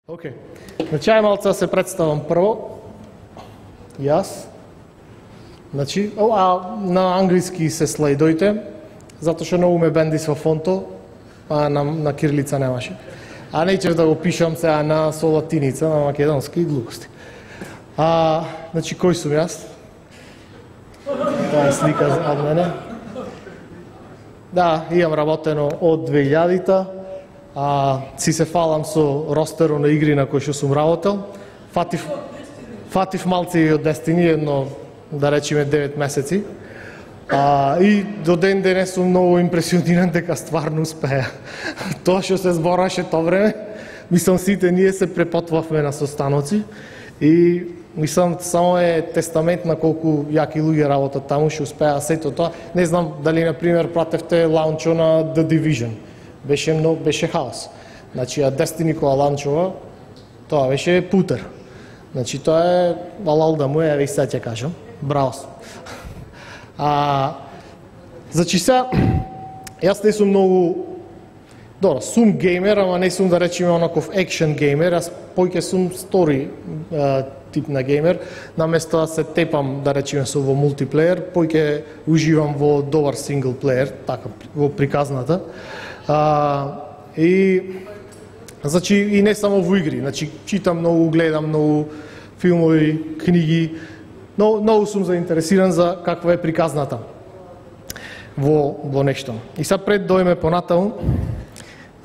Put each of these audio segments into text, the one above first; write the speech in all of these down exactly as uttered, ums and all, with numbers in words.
Океј. Значи, ај малце да се представам прво. Јас. Значи, а на англиски се слайдојте, затоа што многу ме бенди со фонто, а на, на кирилица немаше. А неќев да го пишам сега на со латиница, на македонски глупости. А, значи, кој сум јас? Тоа е слика од мене. Да, имам работено од две илјадите. А, си се фалам со ростеро на игри на кои што сум работел. Фатив, фатив малце и од Destiny, едно, да речеме, девет месеци. А, и до ден денес сум многу импресиониран дека стварно успеа. Тоа што се збораше тоа време, мислам сите ние се препотвавме на состаноци и мислам само е тестамент на колку јаки луѓе работат таму, што успеа сето тоа. Не знам дали на пример пратевте лаунчо на The Division. Беше многу, беше хаос. Значи, а Destiny кога ланчува, тоа беше путер. Значи, тоа е алал да му е, еве сега ќе кажам. Браво. А, значи сега, јас не сум многу, добро, сум геймер, ама не сум да речеме онаков екшен геймер, јас поќе сум стори а, тип на геймер, наместо да се тепам, да речеме, со во мултиплеер, поќе уживам во добар сингл плеер, така, во приказната. А, и значи и не само во игри, значи читам многу, гледам многу филмови, книги, но многу сум заинтересиран за каква е приказната во во нешто. И сега пред дојме понатаму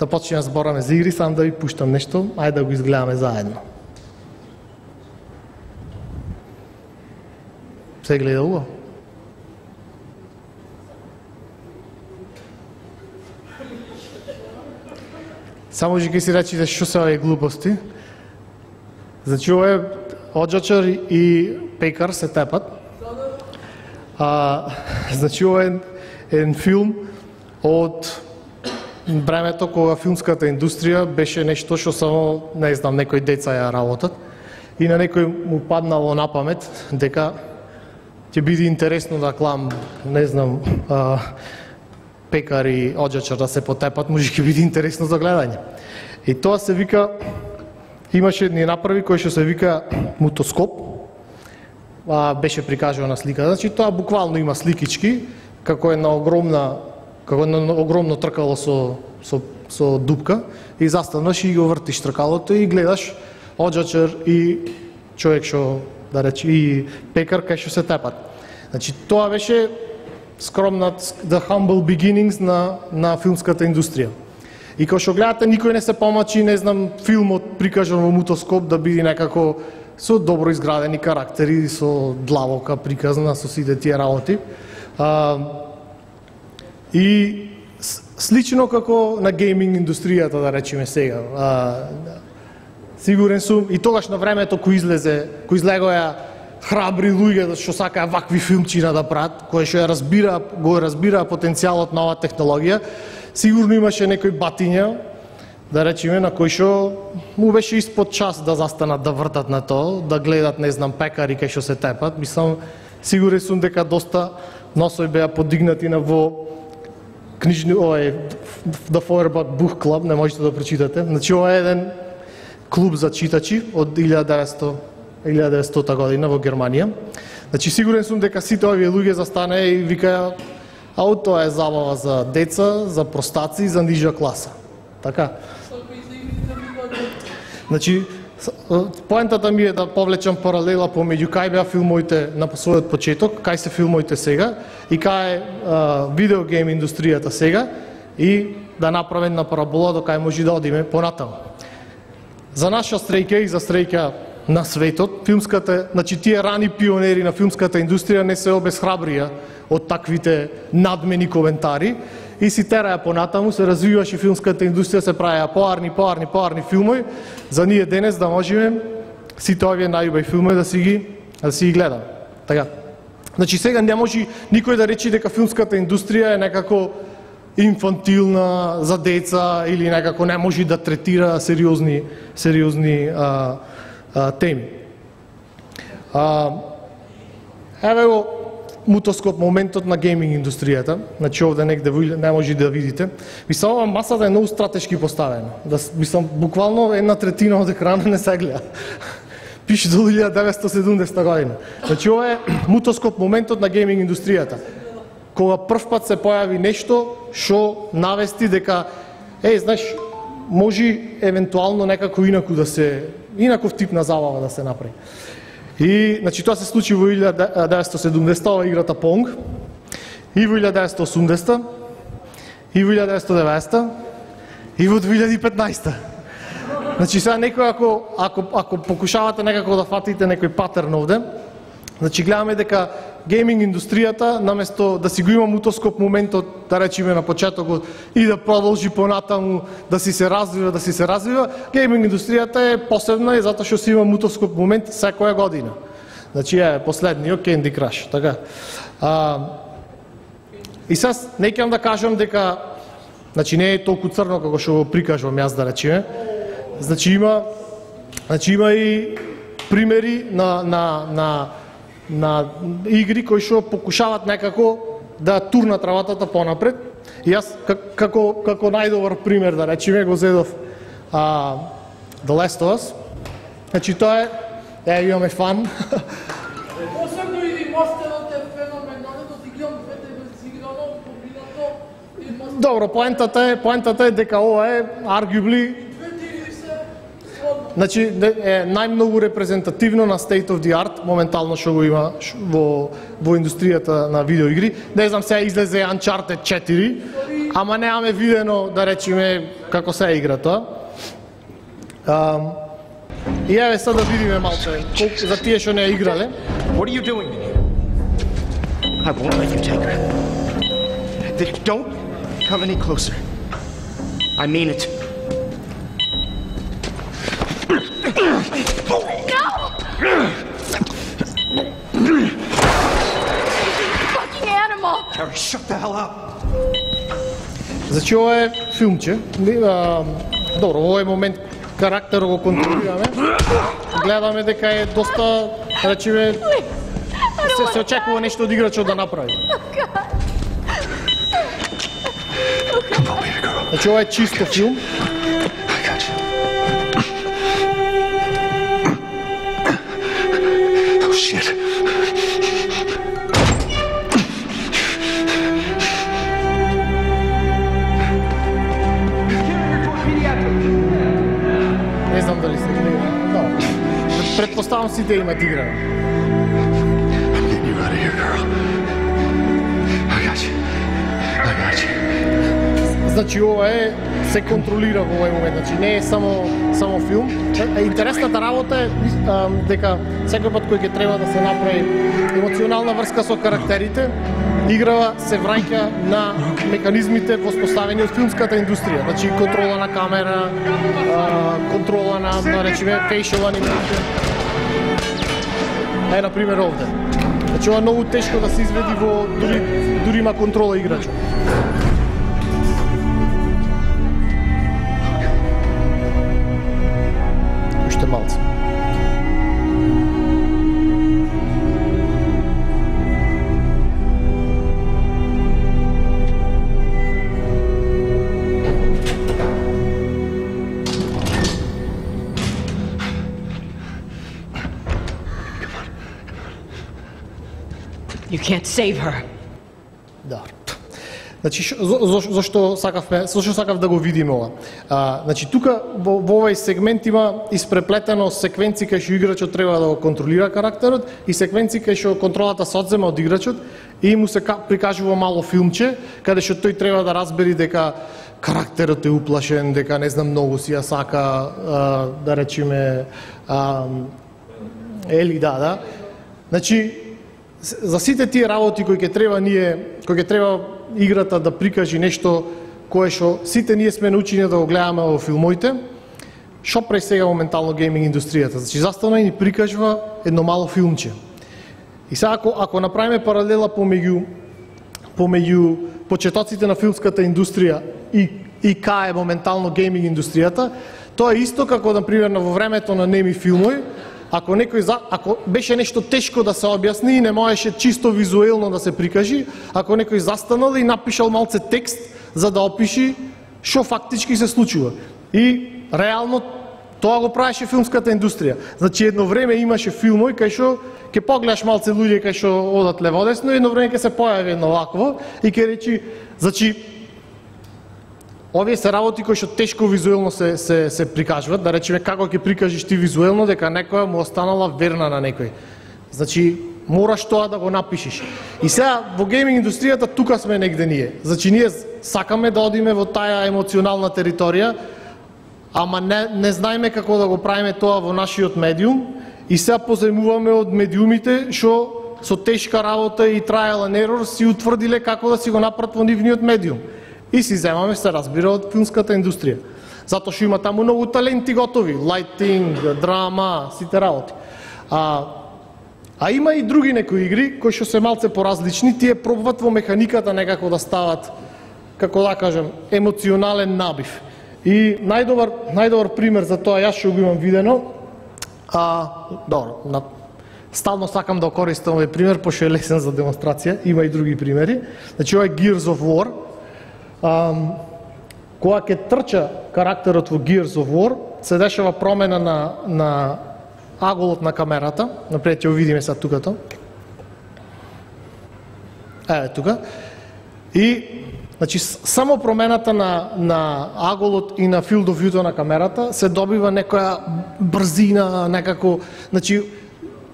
да почнеме да збораме за игри, сам да ви пуштам нешто, ајде да го изгледаме заедно. Се гледа убаво? Само ќе си речите што се овие глупости. Значи, ова е оджачар и пекар се тепат. А, значи, ова е еден филм од времето кога филмската индустрија беше нешто што само, не знам, некои деца ја работат. И на некој му паднало на памет дека ќе биде интересно да клам, не знам, а, пекар и оджачар да се потепат, може ќе биде интересно за гледање. И тоа се вика, имаше ни направи кој што се вика мутоскоп, а, беше прикажано на слика. Значи тоа буквално има сликички, како една огромна, како едно огромно тркало со со со дупка и застанаш и го вртиш тркалото и гледаш оджачар и човек што да рече и пекар кај што се тепат. Значи тоа беше скромнат the humble beginnings на на филмската индустрија. И кога што гледате, никој не се помачи, не знам, филмот прикажан во мутоскоп да биде некако со добро изградени карактери, со длабока приказна, со сите тие работи. А, и слично како на гейминг индустријата, да речеме сега. А, сигурен сум, и тогаш на времето кој излезе, кој излегоја храбри луѓе што сакаа вакви филмчина да прават, кои што ја разбира, го разбира потенцијалот на оваа технологија, сигурно имаше некои батиња, да речеме, на кои што му беше испод час да застанат да вртат на тоа, да гледат, не знам, пекари кај што се тепат. Мислам, сигурен сум дека доста носови беа подигнати на во книжни, овој The Feuerbach Book Club, не можете да прочитате. Значи ова е еден клуб за читачи од илјада деветстота година во Германија. Значи сигурен сум дека сите овие луѓе застане и викаја, а тоа е забава за деца, за простаци и за нижа класа. Така. Значи поентата ми е да повлечам паралела помеѓу кај беа филмовите на својот почеток, кај се филмовите сега и кај е видеогейм индустријата сега и да направим на парабола до кај може да одиме понатаму. За наша среќа и за среќа на светот, филмската, значи тие рани пионери на филмската индустрија не се обесхрабрија од таквите надмени коментари и си тераја понатаму, се развиваше филмската индустрија, се правеа поарни, поарни, поарни филмови, за ние денес да можеме сите овие најубави филмови да си ги да си ги гледаме. Така. Значи сега не може никој да рече дека филмската индустрија е некако инфантилна за деца или некако не може да третира сериозни сериозни а, а, теми. А, еве го мутоскоп моментот на гейминг индустријата. Значи овде негде не може да видите. Мислам, ова масата е многу стратешки поставена. Да, мислам, буквално една третина од екранот не се гледа. Пише до илјада деветстотини и седумдесета година. Значи ова е мутоскоп моментот на гейминг индустријата. Кога прв пат се појави нешто што навести дека еј, знаеш, може евентуално некако инаку да се инаков тип на забава да се направи. И значи тоа се случи во илјада деветстотини и седумдесета, ова играта Понг, и во илјада деветстотини и осумдесета, и во илјада деветстотини и деветдесета, и во две илјади и петнаесета. Значи сега некој ако ако ако покушавате некако да фатите некој патерн овде, значи гледаме дека гейминг индустријата наместо да си го има мутоскоп моментот, да речеме на почетокот и да продолжи понатаму да си се развива, да си се развива, гейминг индустријата е посебна и затоа што си има мутоскоп момент секоја година. Значи е последниот Candy Crush, така. А, и сега не ќе да кажам дека значи не е толку црно како што го прикажувам јас, да речеме. Значи има значи има и примери на на на на игри кои што покушават некако да турнат работата понапред. И јас како како најдобар пример, да речеме, го зедов а, The Last of Us. Значи тоа е, е имаме фан. Посебно и ремастерот е феноменален, да ти гледам двете безиграно, побиното. Добро, поентата е, поентата е дека ова е arguably значи е најмногу репрезентативно на state of the art моментално што го има во во индустријата на видеоигри. Не знам, сега излезе Uncharted четири, ама немаме видено, да речеме, како се игра тоа. А, и еве сега да видиме малце колку за тие што не играле. What are you doing? I won't let you take her. Don't come any closer. I mean it. No! Fucking animal! Carrie, shut the hell up! Значи ова е филмче. А, добро, во овој момент карактерот го контролираме. Гледаме дека е доста, речеме, се, се очекува нешто од играчот да направи. Значи ова е чисто филм. Shit. Не знам дали се гледа. Да. Предпоставам сите имат игра. I'm getting you out of here, girl. I got you. I got you. Значи ова е се контролира во овој момент, значи не е само само филм. Интересната работа е а, дека секој пат кој ќе треба да се направи емоционална врска со карактерите, играва се враќа на механизмите воспоставени од филмската индустрија. Значи контрола на камера, а, контрола на, да речеме, facial animation. Е, например, овде. Значи ова е многу тешко да се изведи во дури дури има контрола играчот. Уште малце. You can't save her. Да. Значи шо, за, зашто сакавме, зашто сакав да го видиме ова. А, значи тука во, во овој сегмент има испреплетено секвенци кај што играчот треба да го контролира карактерот и секвенци кај што контролата се одзема од играчот и му се прикажува мало филмче каде што тој треба да разбери дека карактерот е уплашен, дека не знам многу си ја сака, а, да речеме, а, ели да, да. Значи за сите тие работи кои ќе треба ние, кои ќе треба играта да прикажи нешто кое што сите ние сме научени да го гледаме во филмоите, што прави сега моментално гейминг индустријата? Значи застана и ни прикажува едно мало филмче. И сега ако, ако направиме паралела помеѓу помеѓу почетоците на филмската индустрија и и кај е моментално гейминг индустријата, тоа е исто како, например, во времето на неми филмови, ако некој за, ако беше нешто тешко да се објасни и не можеше чисто визуелно да се прикажи, ако некој застанал и напишал малце текст за да опиши што фактички се случува. И реално тоа го правеше филмската индустрија. Значи едно време имаше филмови кај што ќе погледаш малце луѓе кај што одат леводесно и едно време ќе се појави едно вакво и ќе речи, значи овие се работи кои што тешко визуелно се се се прикажуваат, да речеме како ќе прикажеш ти визуелно дека некоја му останала верна на некој. Значи мораш тоа да го напишеш. И сега во гейминг индустријата тука сме негде ние. Значи ние сакаме да одиме во таа емоционална територија, ама не, не знаеме како да го правиме тоа во нашиот медиум и сега позајмуваме од медиумите што со тешка работа и trial and error си утврдиле како да си го направат во нивниот медиум. И си земаме, се разбира, од филмската индустрија. Затоа што има таму многу таленти готови, лайтинг, драма, сите работи. А, а има и други некои игри кои што се малце поразлични, тие пробват во механиката некако да стават, како да кажем, емоционален набив. И најдобар, најдобар пример за тоа, јас што го имам видено, а, добро, на, стално сакам да користам овој пример, пошто е лесен за демонстрација, има и други примери. Значи, ова е Gears of War. А, кога ќе трча карактерот во Gears of War, се дешава промена на, на аголот на камерата. Напред ќе го видиме сега тукато. Еве тука. И значи само промената на на аголот и на field of view на камерата се добива некоја брзина, некако, значи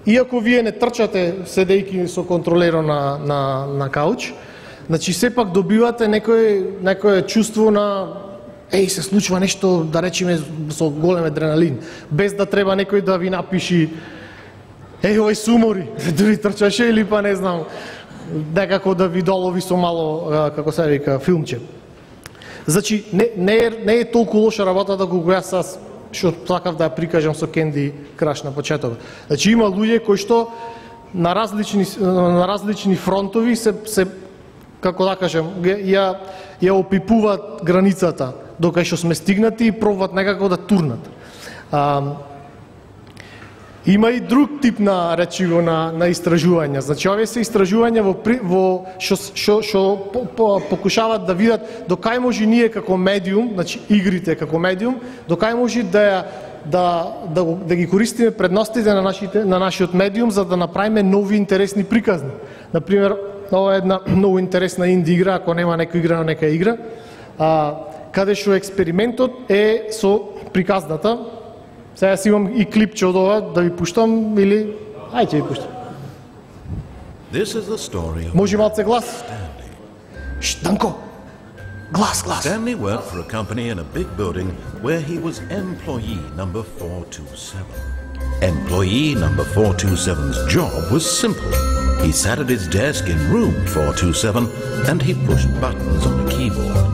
иако вие не трчате седејќи со контролеро на на на кауч, значи сепак добивате некој некое чувство на еј се случува нешто, да речеме со голем адреналин, без да треба некој да ви напиши еј овој сумори, дури трчаше или па не знам, некако да ви долови со мало, како се вика, филмче. Значи, не, не, е, не е толку лоша работата колку јас аз што сакав да ја прикажам со Candy Crush на почеток. Значи, има луѓе кои што на различни, на различни фронтови се, се како да кажем, ја, ја опипуваат границата докај што сме стигнати и пробват некако да турнат. А, Има и друг тип на речиво на на истражувања. Значи овие се истражувања во во што што што по, по, покушаваат да видат докај може ние како медиум, значи игрите како медиум, докај може да да да да ги користиме предностите на нашите на нашиот медиум за да направиме нови интересни приказни. На пример, ова е една многу интересна инди игра, ако нема некој игра на нека игра, а каде што експериментот е со приказната. Сега си имам и клипче од ова, да ви пуштам или... Ајде ви пуштам. Може малце глас? Шт, Данко! Глас, глас! Stanley worked for a company in a big building where he was employee number four two seven. Employee number four two seven's job was simple. He sat at his desk in room four two seven and he pushed buttons on the keyboard.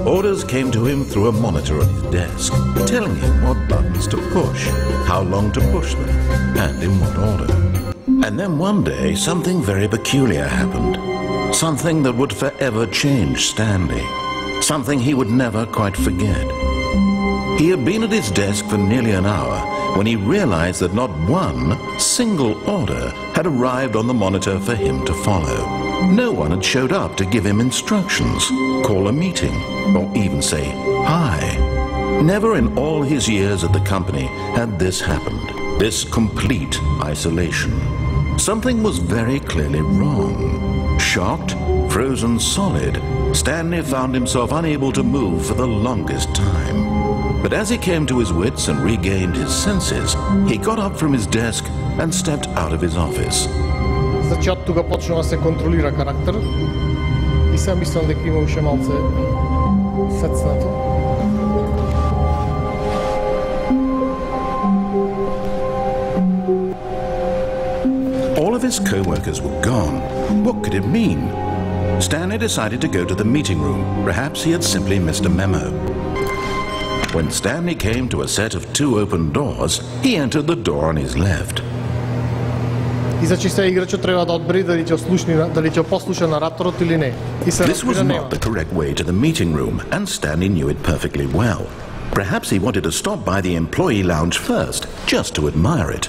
Orders came to him through a monitor on his desk, telling him what buttons to push, how long to push them, and in what order. And then one day, something very peculiar happened. Something that would forever change Stanley. Something he would never quite forget. He had been at his desk for nearly an hour when he realized that not one single order had arrived on the monitor for him to follow. No one had showed up to give him instructions, call a meeting, or even say hi. Never in all his years at the company had this happened, this complete isolation. Something was very clearly wrong. Shocked, frozen solid, Stanley found himself unable to move for the longest time. But as he came to his wits and regained his senses, he got up from his desk and stepped out of his office. Значи, од тука почнува да се контролира карактерот и сега мислам дека има уште малце сецнато. All of his co-workers were gone. What could it mean? Stanley decided to go to the meeting room. Perhaps he had simply missed a memo. When Stanley came to a set of two open doors, he entered the door on his left. И значи се играчот треба да одбери дали ќе ослушни дали ќе послуша нараторот или не. И се This was not the correct way to the meeting room, and Stanley knew it perfectly well. Perhaps he wanted to stop by the employee lounge first, just to admire it.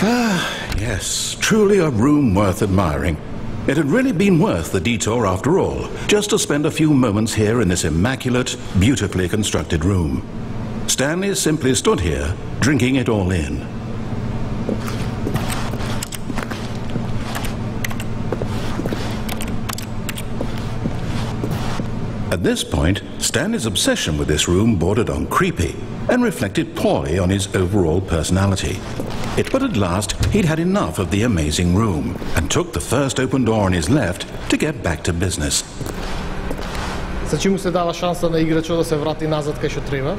Ah, yes, truly a room worth admiring. It had really been worth the detour after all, just to spend a few moments here in this immaculate, beautifully constructed room. Stanley simply stood here, drinking it all in. At this point, Stanley's obsession with this room bordered on creepy and reflected poorly on his overall personality. It, but at last, he'd had enough of the amazing room and took the first open door on his left to get back to business. Значи му се дава шанса на играчот да се врати назад кај што треба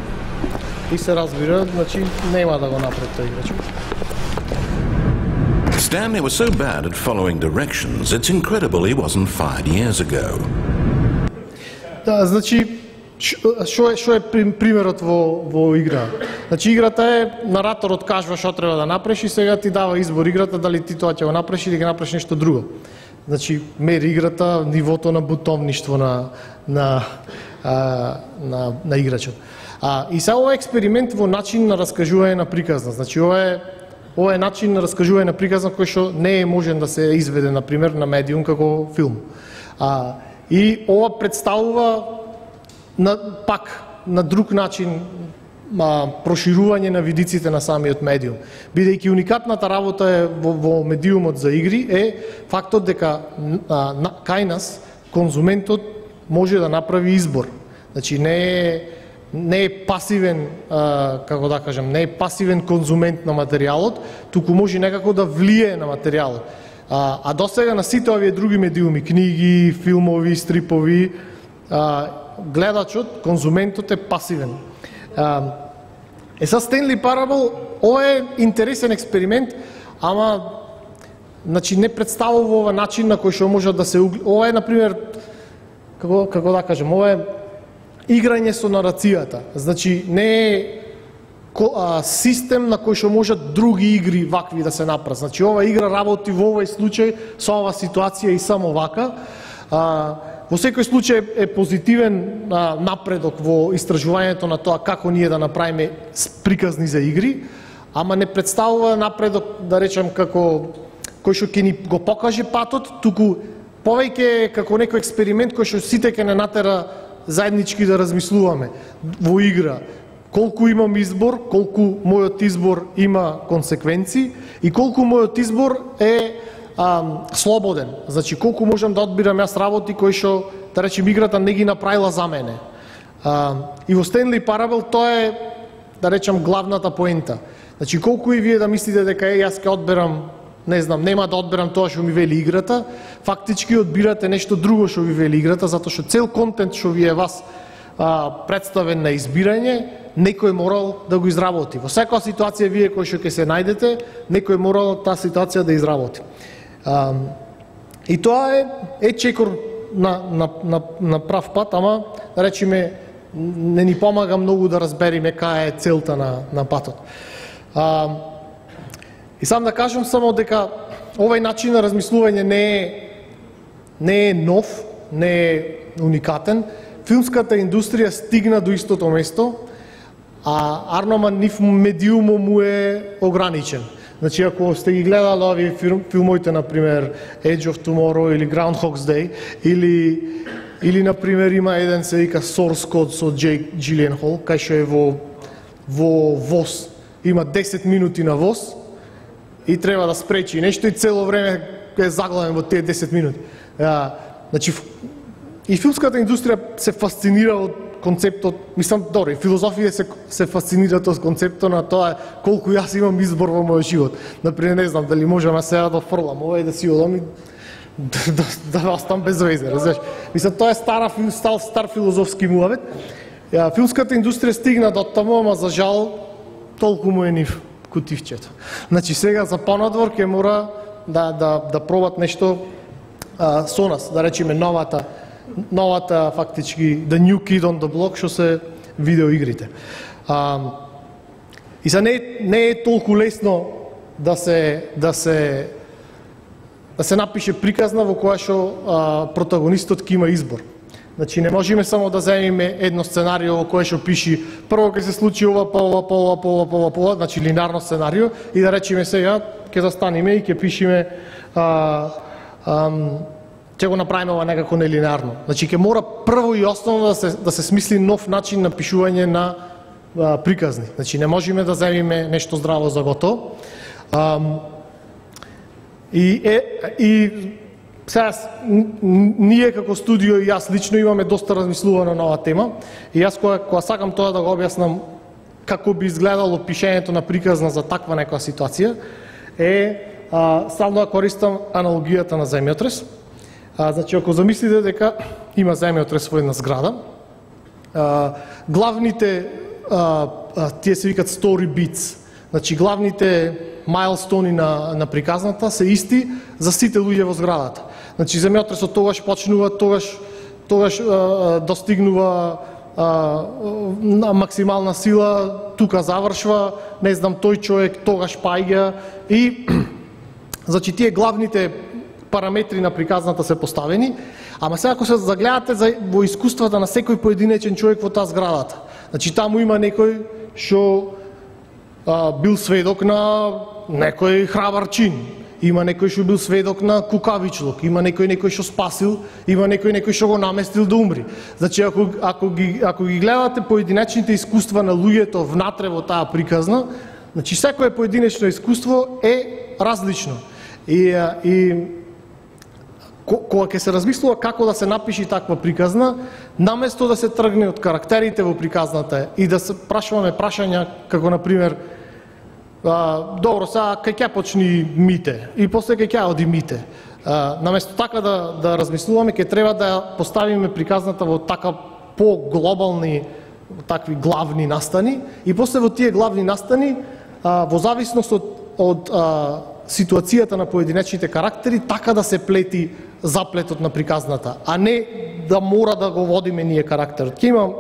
и се разбира, значи нема да го направи тој играчот. Stanley was so bad at following directions, it's incredible he wasn't fired years ago. Да, значи што е што е примерот во во игра. Значи играта е нараторот кажува што треба да направиш и сега ти дава избор играта дали ти тоа ќе го направиш или ќе направиш нешто друго. Значи мери играта нивото на бутовништво на на а, на на играчот. А и сега ова е експеримент во начин на раскажување на приказна. Значи ова е ова е начин на раскажување на приказна кој што не е можен да се изведе на пример на медиум како филм. А и ова представува на пак на друг начин а, проширување на видиците на самиот медиум. Бидејќи уникатната работа е во, во медиумот за игри е фактот дека а, на, кај нас конзументот може да направи избор. Значи не е не е пасивен, а, како да кажам, не е пасивен конзумент на материјалот, туку може некако да влие на материјалот. А, а досега на сите овие други медиуми, книги, филмови, стрипови, а, гледачот, конзументот е пасивен. А, е са Стенли Парабл, ова е интересен експеримент, ама значи не представува ова начин на кој што може да се ова е на пример како како да кажам, ова е играње со нарацијата. Значи не е систем на кој што можат други игри вакви да се направат. Значи ова игра работи во овој случај со оваа ситуација и само вака. А, во секој случај е позитивен а, напредок во истражувањето на тоа како ние да направиме приказни за игри, ама не представува напредок, да речем, како кој што ќе ни го покаже патот, туку повеќе како некој експеримент кој што сите ќе не натера заеднички да размислуваме во игра. Колку имам избор, колку мојот избор има консеквенции и колку мојот избор е а, слободен. Значи колку можам да одбирам јас работи кои што, да речем, играта не ги направила за мене. А, и во Стенли Парабл тоа е, да речем, главната поента. Значи колку и вие да мислите дека е јас ќе одберам, не знам, нема да одберам тоа што ми вели играта, фактички одбирате нешто друго што ви вели играта, затоа што цел контент што ви е вас а, представен на избирање, некој морал да го изработи. Во секоја ситуација вие кој што ќе се најдете, некој морал таа ситуација да изработи. А, и тоа е е чекор на на на на прав пат, ама да речеме не ни помага многу да разбериме кај е целта на на патот. А, и сам да кажам само дека овој начин на размислување не е не е нов, не е уникатен. Филмската индустрија стигна до истото место, а Арноман нив медиумот му е ограничен. Значи, ако сте ги гледали овие филмоите, например, Edge of Tomorrow или Groundhog's Day, или, или например, има еден се вика Source Code со Джейк Джиленхол, кај што е во, во воз. Има десет минути на воз и треба да спречи нешто и цело време е заглавен во тие десет минути. А, значи, и филмската индустрија се фасцинира од концептот, мислам, добро, и филозофија се, се фасцинираат од концептот на тоа колку јас имам избор во мојот живот. Например, не знам, дали можам сега да фрлам ова и да си одам и да, да, да остам без везе, разбираш? Мислам, тоа е стара, стар, стар филозофски муавет. Филмската индустрија стигна до таму, ама за жал толку му е нив кутивчето. Значи сега за понадвор ќе мора да, да, да пробат нешто а, со нас, да речеме новата новата фактички the new kid on the block што се видеоигрите. А, и за не не е толку лесно да се да се да се напише приказна во која што а, протагонистот ќе има избор. Значи не можеме само да земеме едно сценарио во кое што пиши прво ќе се случи ова, па ова, па ова, па ова, па ова, па ова, значи линарно сценарио и да речеме сега ќе застанеме и ќе пишеме а, ам, ќе го направиме ова некако нелинарно. Значи ќе мора прво и основно да се да се смисли нов начин на пишување на а, приказни. Значи не можеме да земеме нешто здраво за готово. Ам, и е и сега, ние како студио и јас лично имаме доста размислувано на оваа тема и јас кога, кога сакам тоа да го објаснам како би изгледало пишењето на приказна за таква некоја ситуација е а, стално да користам аналогијата на земјотрес. А, значи ако замислите дека има земјотрес во една зграда, а, главните а, а, тие се викат story beats, значи главните мајлстони на, на приказната се исти за сите луѓе во зградата. Значи земјотресот тогаш почнува, тогаш тогаш а, достигнува а, на максимална сила, тука завршва, не знам, тој човек тогаш паѓа и значи тие главните параметри на приказната се поставени, ама сега ако се загледате за, во искуствата на секој поединечен човек во таа зградата, значи таму има некој што а, бил сведок на некој храбар чин, има некој што бил сведок на кукавичлук, има некој некој што спасил, има некој некој што го наместил да умри. Значи ако ако ги ако ги гледате поединечните искуства на луѓето внатре во таа приказна, значи секое поединечно искуство е различно. И и кога ќе се размислува како да се напиши таква приказна, наместо да се тргне од карактерите во приказната и да се прашуваме прашања како на пример Uh, добро, сега кај ќе почни Мите и после кај ќе оди Мите. Uh, наместо така да, да размислуваме, ќе треба да поставиме приказната во така по-глобални такви главни настани и после во тие главни настани, uh, во зависност од, од uh, ситуацијата на поединечните карактери, така да се плети заплетот на приказната, а не да мора да го водиме ние карактерот. Ќе имам,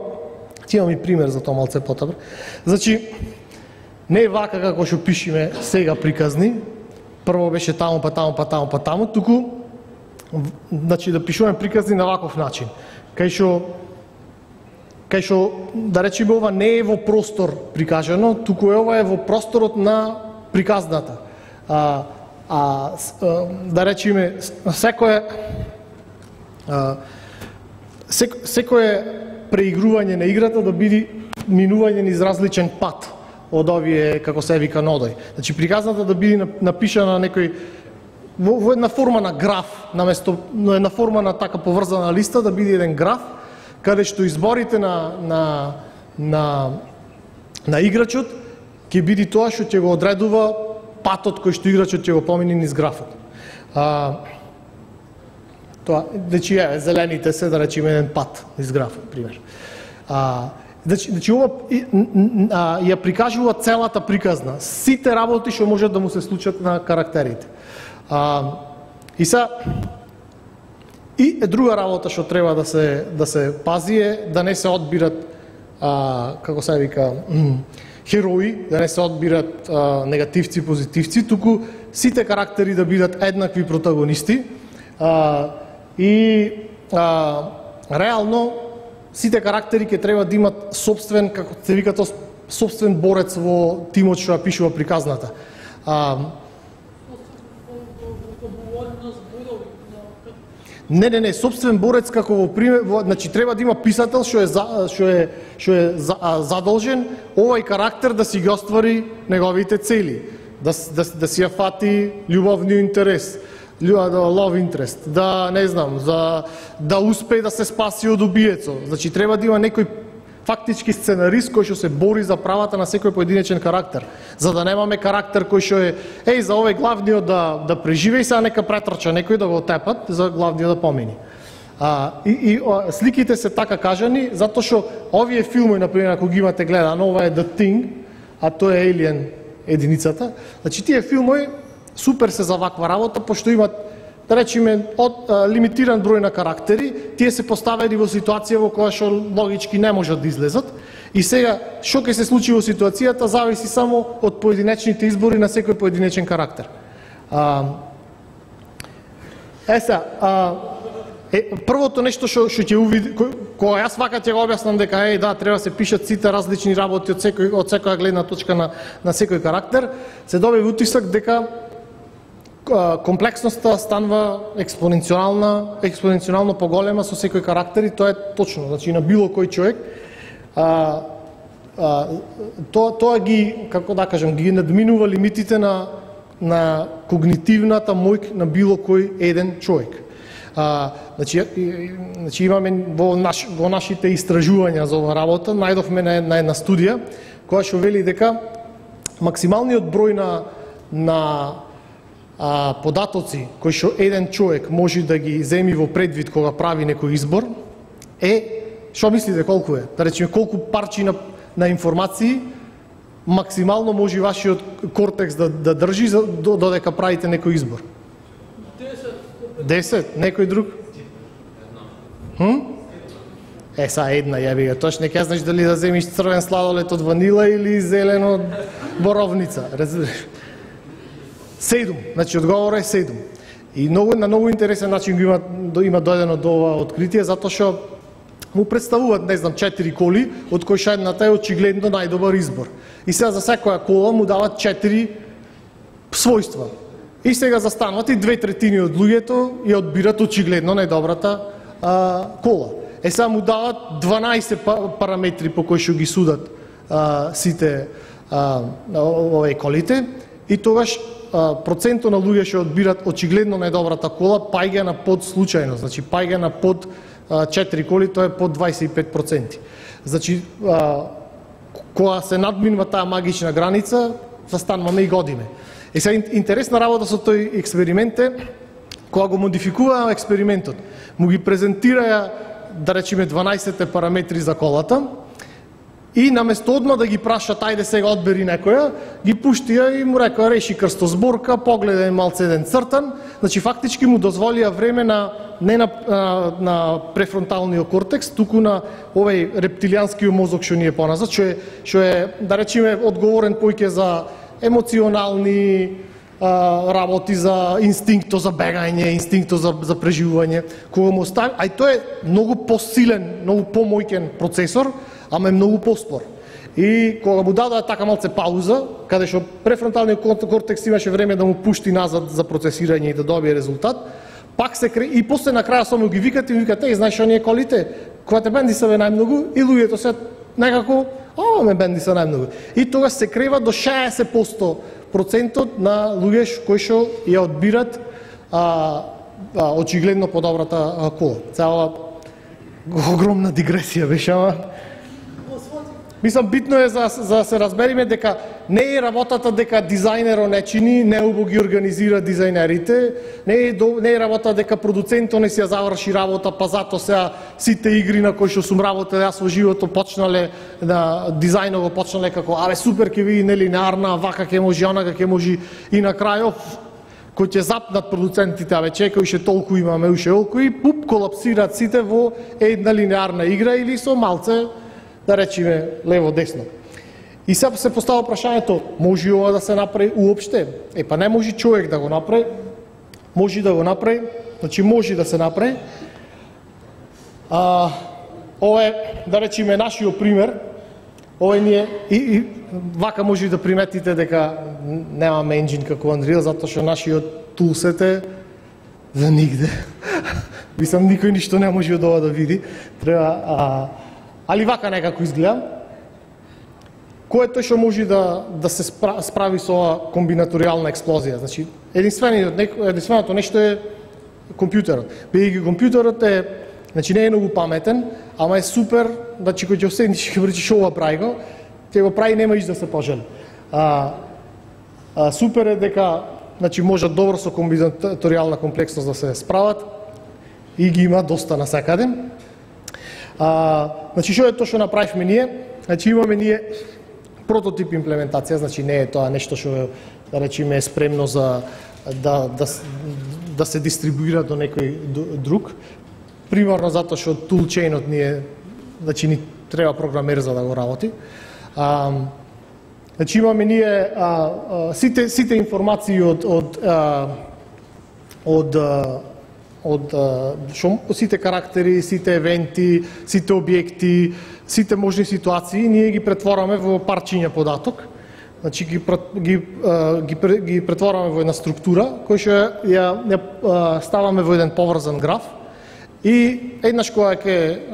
ќе имам и пример за тоа малце потабро. Значи, не е вака како што пишеме сега приказни, прво беше таму, па таму, па таму, па таму, туку значи да пишуваме приказни на ваков начин. Кај што кај што да речеме ова не е во простор прикажано, туку е ова е во просторот на приказната. А, а да речеме секое а, сек, секое преигрување на играта да биде минување низ различен пат од овие, како се вика, нодој. Значи, приказната да биде напишана на некој, во, во една форма на граф, наместо на една форма на така поврзана листа, да биде еден граф, каде што изборите на, на, на, на играчот ќе биде тоа што ќе го одредува патот кој што играчот ќе го помине низ графот. А, тоа, значи, е, зелените се, да речеме, еден пат низ графот, пример. А, Значи, значи ова ја прикажува целата приказна, сите работи што можат да му се случат на карактерите. А, и са и е друга работа што треба да се да се пази е да не се одбират а, како се вика херои, да не се одбират а, негативци, позитивци, туку сите карактери да бидат еднакви протагонисти а, и а, реално сите карактери ќе треба да имат собствен, како се вика тоа, собствен борец во тимот што ја пишува приказната. А, не, не, не, собствен борец како во пример, во, значи треба да има писател што е за, што е што е за, а, задолжен овој карактер да си ги оствари неговите цели, да да, да си ја фати љубовниот интерес, love interest, да не знам, за да успее да се спаси од убиецот. Значи треба да има некој фактички сценарист кој што се бори за правата на секој поединечен карактер, за да немаме карактер кој што е еј за овој главниот да да преживее и сега нека претрча некој да го тепат за главниот да помини. А, и, и о, сликите се така кажани затоа што овие филми, например, ако ги имате гледано, ова е The Thing, а тоа е Alien единицата. Значи тие филми супер се за ваква работа, пошто имат, да речеме, од а, лимитиран број на карактери, тие се поставени во ситуација во која што логички не можат да излезат. И сега, што ќе се случи во ситуацијата, зависи само од поединечните избори на секој поединечен карактер. А, е сега, а, Е, првото нешто што што ќе увиди, кога јас вака ќе го објаснам дека е да треба се пишат сите различни работи од секој од секоја гледна точка на на секој карактер, се добива утисак дека комплексноста станува експоненцијална, експоненцијално поголема со секој карактер и тоа е точно, значи на било кој човек. А, а, тоа тоа ги, како да кажам, ги надминува лимитите на на когнитивната моќ на било кој еден човек. А, значи, значи имаме во, наш, во нашите истражувања за оваа работа, најдовме на, на една студија која што вели дека максималниот број на на а, податоци кои што еден човек може да ги земи во предвид кога прави некој избор е, што мислите колку е? Да речеме колку парчи на, на информации максимално може вашиот кортекс да, да држи за, додека правите некој избор? десет, некој друг? Хм? Е, са една, јаби го, точно ќе знаеш дали да земиш црвен сладолед од ванила или зелен од боровница. Седум, значи одговор е седум. И многу, на многу интересен начин го има, има дојдено до ова откритие, затоа што му представуваат, не знам, четири коли, од кои што едната е очигледно најдобар избор. И сега за секоја кола му дават четири својства. И сега застануват и две третини од луѓето ја одбират очигледно најдобрата а, кола. Е сега му дават дванаесет параметри по кои што ги судат а, сите а, овие колите и тогаш а, процентот на луѓе што одбират очигледно најдобрата кола паѓа на под случајно, значи паѓа на под а, четири коли, тоа е под дваесет и пет проценти. Значи а, кога се надминува таа магична граница, застануваме и годиме. Е сега интересна работа со тој експеримент е, кога го модификуваа експериментот, му ги презентираја, да речеме, дванаесет параметри за колата и наместо одма да ги прашат, ајде сега одбери некоја, ги пуштија и му рекоа реши крстозборка, погледај малце еден цртан, значи фактички му дозволија време на не на, на, на префронталниот кортекс, туку на овој рептилијанскиот мозок што ни е поназад, што е, што е, да речеме, одговорен поиќе за емоционални а, работи, за инстинкто за бегање, инстинкто за, за преживување, кога му остави, а и тој е многу посилен, многу помојкен процесор, ама е многу поспор. И кога му дадоа така малце пауза, каде што префронталниот кортекс имаше време да му пушти назад за процесирање и да добие резултат, пак се кре... и после на краја само ги викате и викате, е, знаеш што ние колите, кога те бенди се најмногу, и луѓето се некако, о, ме бенди се најмногу. И тогаш се крева до шеесет процентот на луѓе кои што ја одбират а, а, очигледно подобрата а, кола. Цела огромна дигресија беше, ама мислам, битно е за, за да се разбериме дека не е работата дека дизајнерот не чини, неубо ги организира дизајнерите, не е, до, не е работа дека продуцентот не си ја заврши работа, па зато сега сите игри на кои што сум работел јас во животот почнале, на дизајнот го почнале како, абе супер ќе биде нелинеарна, вака ќе може, онака ќе може и на крајов, кој ќе запнат продуцентите, абе чекај, уште толку имаме, уште толку и пуп, колапсираат сите во една линеарна игра или со малце, да речеме, лево-десно. И сега се постава прашањето, може ова да се направи уопште? Е, па не може човек да го направи, може да го направи, значи може да се направи. А, ова е, да речеме, нашиот пример, ова ние, и, и вака може да приметите дека немаме енджин како Unreal, затоа што нашиот тулсет е за нигде. Мислам, никој ништо не може од ова да види. Треба, а, али вака некако изгледа. Кој е тој што може да, да се справи со ова комбинаторијална експлозија? Значи, единственото нешто е компјутерот. Бидејќи компјутерот е, значи не е многу паметен, ама е супер, значи кој ќе седнеш и ќе речеш ова прави го, ќе го прави, нема иш да се пожели. А, а, супер е дека, значи можат добро со комбинаторијална комплексност да се справат и ги има доста насекаде. А, значи што е тоа што направивме ние? Значи имаме ние прототип имплементација, значи не е тоа нешто што, да речеме, е спремно за да, да, да се дистрибуира до некој друг. Примерно затоа што toolchainот ни е, значи ни треба програмер за да го работи. А, значи имаме ние а, а, сите сите информации од од а, од а, од шо, сите карактери, сите евенти, сите објекти, сите можни ситуации, ние ги претвораме во парчиња податок. Значи ги ги ги, ги претвораме во една структура која што ја, ја ставаме во еден поврзан граф. И еднаш кога ќе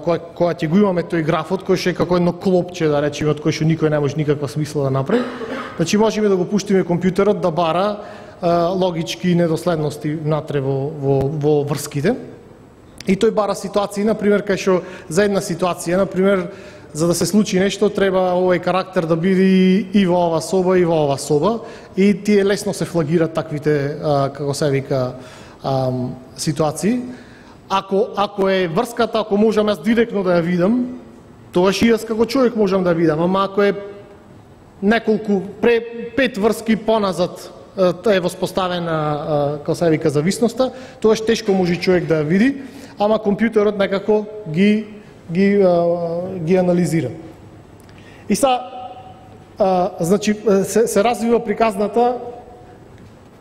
кога кога ќе го имаме тој графот кој што е како едно клопче, да речеме, од кој што никој не може никаква смисла да направи, значи можеме да го пуштиме компјутерот да бара логички недоследности внатре во, во, во врските. И тој бара ситуации, например, кај што за една ситуација, например, за да се случи нешто, треба овој карактер да биде и во ова соба, и во ова соба, и тие лесно се флагираат таквите, а, како се вика, а, ситуации. Ако, ако е врската, ако можам јас директно да ја видам, тогаш и јас како човек можам да видам, ама ако е неколку, пре, пет врски поназад, е воспоставена, како се вика, зависноста, тогаш тешко може човек да ја види, ама компјутерот некако ги, ги, ги анализира. И са, а, значи, се, се развива приказната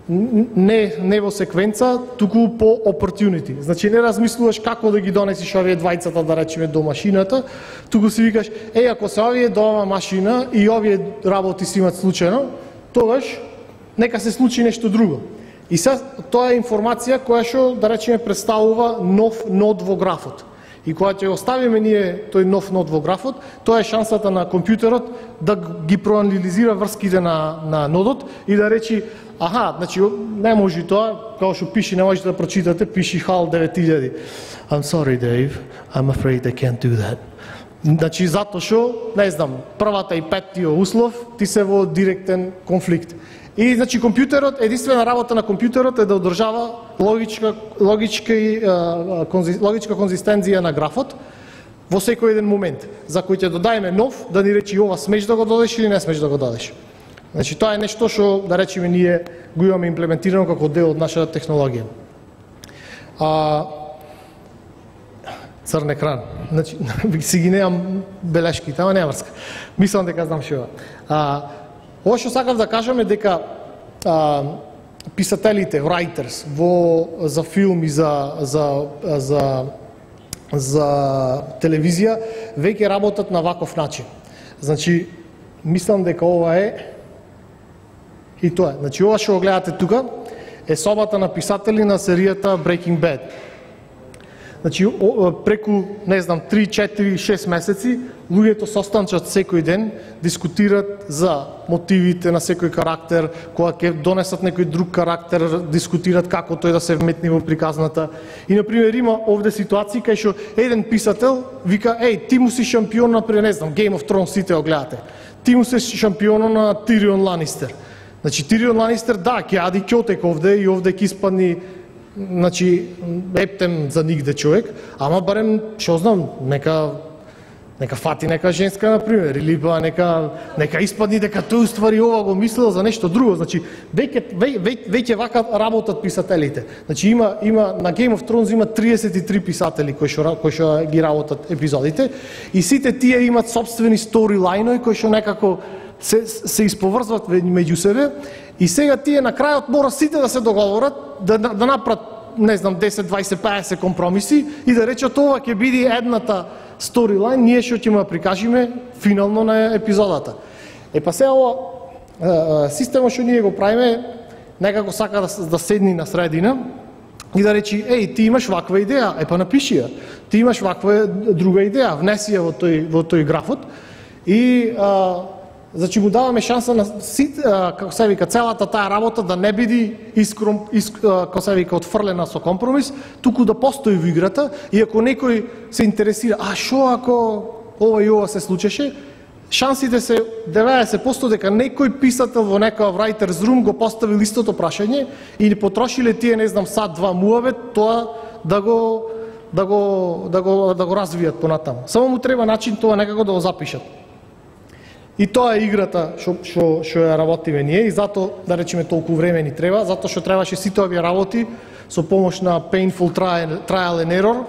не, не во секвенца, туку по opportunity. Значи не размислуваш како да ги донесиш овие двајцата, да речеме, до машината, туку си викаш, еј, ако се овие до ова машина и овие работи си имат случајно, тогаш нека се случи нешто друго. И сега тоа е информација која што, да речеме, представува нов нод во графот. И кога ќе оставиме ние тој нов нод во графот, тоа е шансата на компјутерот да ги проанализира врските на, на нодот и да речи, аха, значи не може тоа, како што пише, не можете да прочитате, пише хал девет илјади. I'm sorry, Dave, I'm afraid I can't do that. Значи затоа што, не знам, првата и петтиот услов ти се во директен конфликт. И значи компјутерот, единствена работа на компјутерот е да одржава логичка логичка и конзи, логичка конзистенција на графот во секој еден момент, за кој ќе додаеме нов, да ни речи ова смеш да го додадеш или не смеш да го додадеш. Значи тоа е нешто што, да речеме, ние го имаме имплементирано како дел од нашата технологија. А црн екран. Значи си ги немам белешките, ама нема врска. Мислам дека знам што. А ова што сакав да кажам е дека а, писателите, writers, во, за филм и за, за, за, за телевизија, веќе работат на ваков начин. Значи, мислам дека ова е и тоа. Значи, ова што го гледате тука е собата на писатели на серијата Breaking Bad. Значи, преку, не знам, три, четири, шест месеци, луѓето состанчат секој ден, дискутират за мотивите на секој карактер, кога ќе донесат некој друг карактер, дискутират како тој да се вметни во приказната. И, например, има овде ситуации кај што еден писател вика, еј, ти му си шампион, например, не знам, Game of Thrones, сите го гледате. Ти му си шампион на Тирион Ланистер. Значи, Тирион Ланистер, да, ќе ади ќотек овде и овде ќе испадни, значи, ептем за нигде човек, ама барем, што знам, нека нека фати нека женска, например, или па нека нека испадни дека тој уствари ова го мислел за нешто друго. Значи, веќе веќе веќе вака работат писателите. Значи има има на Game of Thrones има триесет и три писатели кои што кои што ги работат епизодите и сите тие имат сопствени сторилајнови кои што некако се се исповрзват меѓу себе. И сега тие на крајот мора сите да се договорат, да, да направат, не знам, десет, дваесет, петдесет компромиси и да речат ова ќе биде едната сторилайн, ние што ќе му прикажиме финално на епизодата. Е па сега ова системот што ние го правиме некако сака да, да седни на средина и да речи, еј, ти имаш ваква идеја, е па напиши ја. Ти имаш ваква друга идеја, внеси ја во тој во тој графот и а, значи му даваме шанса на како се вика целата таа работа да не биде искром иск, како се вика отфрлена со компромис, туку да постои во играта и ако некој се интересира, а што ако ова и ова се случеше, шансите се деветдесет проценти дека некој писател во некоја writer's room го поставил истото прашање или потрошиле тие, не знам, сат два муавет тоа да го да го да го да го развијат понатаму. Само му треба начин тоа некако да го запишат. И тоа е играта што што што ја работиме ние и затоа, да речеме, толку време ни треба, затоа што требаше сите овие работи со помош на painful trial, trial and error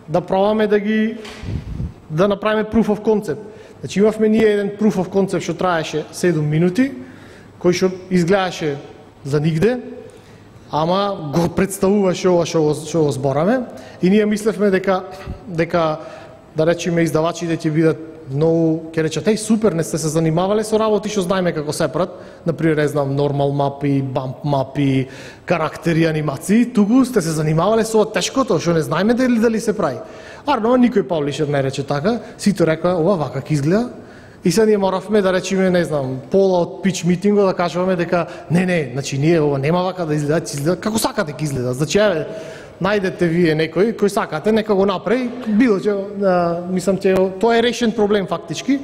да пробаме да ги да направиме proof of concept. Значи имавме ние еден proof of concept што траеше седум минути, кој што изгледаше за нигде. ама го представуваше ова што што го збораме и ние мислевме дека дека да речеме издавачите ќе бидат многу, ќе речат, еј супер, не сте се занимавале со работи што знаеме како се прават, например, не знам, нормал мапи, бамп мапи, карактери, анимации, туку сте се занимавале со тешкото што не знаеме дали дали се прави. Арно, никој паблишер не рече така, сите рекоа, ова вака ќе изгледа. И сега ние моравме да речеме, не знам, пола од пич митинго да кажуваме дека не, не, значи ние ова нема вака да изгледа, ќе изгледа како сакате ќе изгледа. Значи еве, најдете вие некој кој сакате, нека го направи, било че, а, мислам че тоа е решен проблем фактички.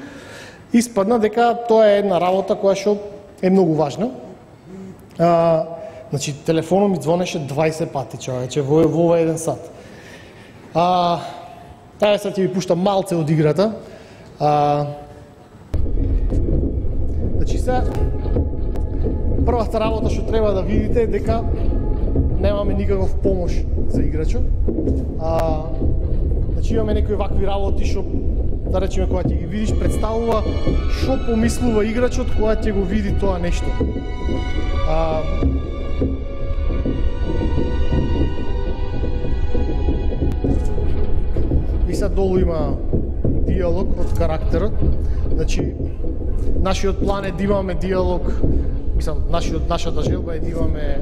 Испадна дека тоа е една работа која што е многу важна. А, значи телефонот ми звонеше дваесет пати, човече, во во еден сат. А, таа сега ќе ви пуштам малце од играта. А, значи сега првата работа што треба да видите е дека немаме никаков помош за играчот. А, значи имаме некои вакви работи што да речеме кога ќе ги видиш представува што помислува играчот кога ќе го види тоа нешто. А, и сега долу има диалог од карактерот. Значи нашиот план е да имаме диалог, мислам, нашиот нашата желба е да имаме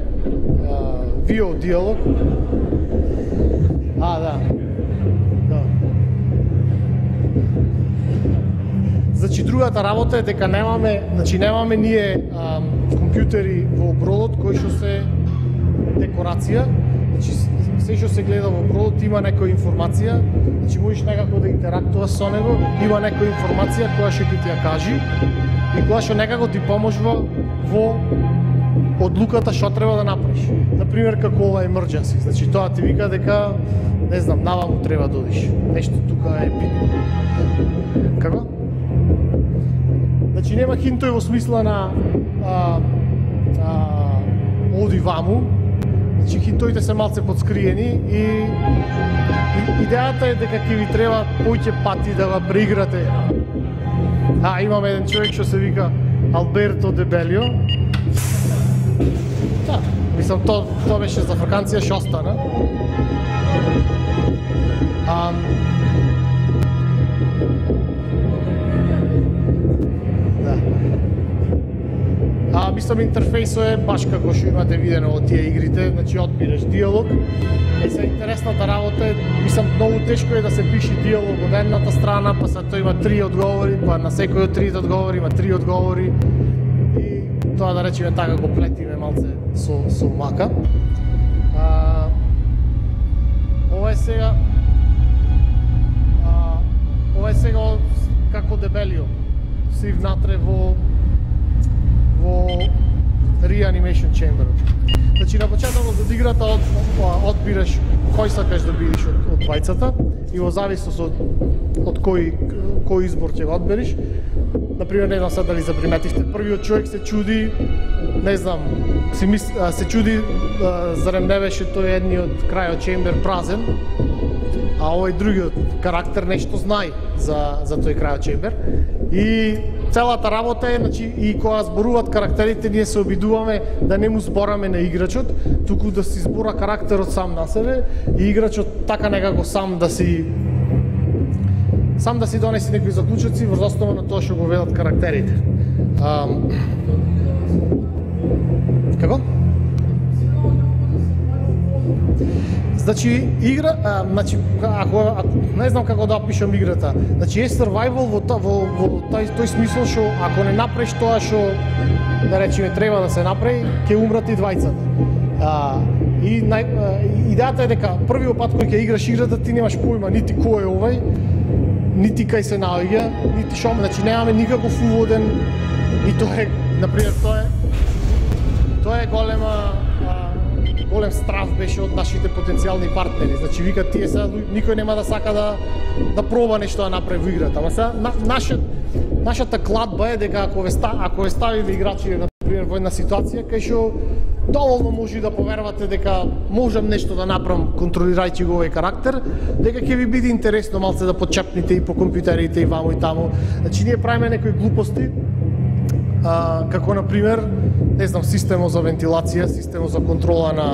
видео диалог. А, да. Да. Значи другата работа е дека немаме, значи немаме ние а, компјутери во бродот кои што се декорација. Значи се што се гледа во бродот има некоја информација, значи можеш некако да интерактуваш со него, има некоја информација која што ќе ти ја кажи и која што некако ти поможува во одлуката што треба да направиш. Например, како ова emergency. Значи тоа ти вика дека не знам, наваму треба да одиш. Нешто тука е битно. Како? Значи нема хинтој во смисла на а, а, оди ваму. Значи хинтоите се малце подскриени и, и идејата е дека ќе ви треба поќе пати да го преиграте. А, имаме еден човек што се вика Алберто Дебелио. Да, мислам, то, то беше за вакансија што остана. А, да. А, мислам, интерфејсот е баш како што имате видено од тие игрите, значи одбираш диалог. Е, се интересната работа е, мислам, многу тешко е да се пише диалог од едната страна, па се тоа има три одговори, па на секој од трите одговори има три одговори. Тоа да речеме така го плетиме малце со, со мака. А, ова е сега а, ова е сега како Дебелио си внатре во во Reanimation Chamber. Значи на почетокот од играта од, одбираш кој сакаш да бидеш од, од двајцата и во зависност од, од кој, кој избор ќе го одбериш. Например, не знам сега дали заприметивте, првиот човек се чуди, не знам, се, мис, се чуди зарем не беше тој едниот крајот чембер празен, а овој другиот карактер нешто знае за, за тој крајот чембер. И целата работа е, значи, и кога зборуваат карактерите, ние се обидуваме да не му збораме на играчот, туку да си збора карактерот сам на себе и играчот така некако сам да си сам да си донеси некои заклучоци врз основа на тоа што го велат карактерите. А, како? Значи игра, а, значи ако, ако не знам како да опишам играта. Значи е survival во во во тој тој смисол што ако не направиш тоа што да речеме треба да се направи, ќе умрат и двајцата. А, и нај, а, идејата е дека првиот пат кој ќе играш играта ти немаш појма нити кој е овој, нити кај се наоѓа, нити што, значи немаме никаков уводен и тоа е, например, тоа е тоа е голема а, голем страв беше од нашите потенцијални партнери. Значи вика тие сега никој нема да сака да да проба нешто да направи во играта. Ама сега на, наша нашата кладба е дека ако ве ста, ако ве ставиме играчи на пример во една ситуација кај што доволно може да поверувате дека можам нешто да направам контролирајќи го овој карактер, дека ќе ви биде интересно малце да почепните и по компјутерите и ваму и таму. Значи ние правиме некои глупости, а, како на пример не знам, системот за вентилација, системот за контрола на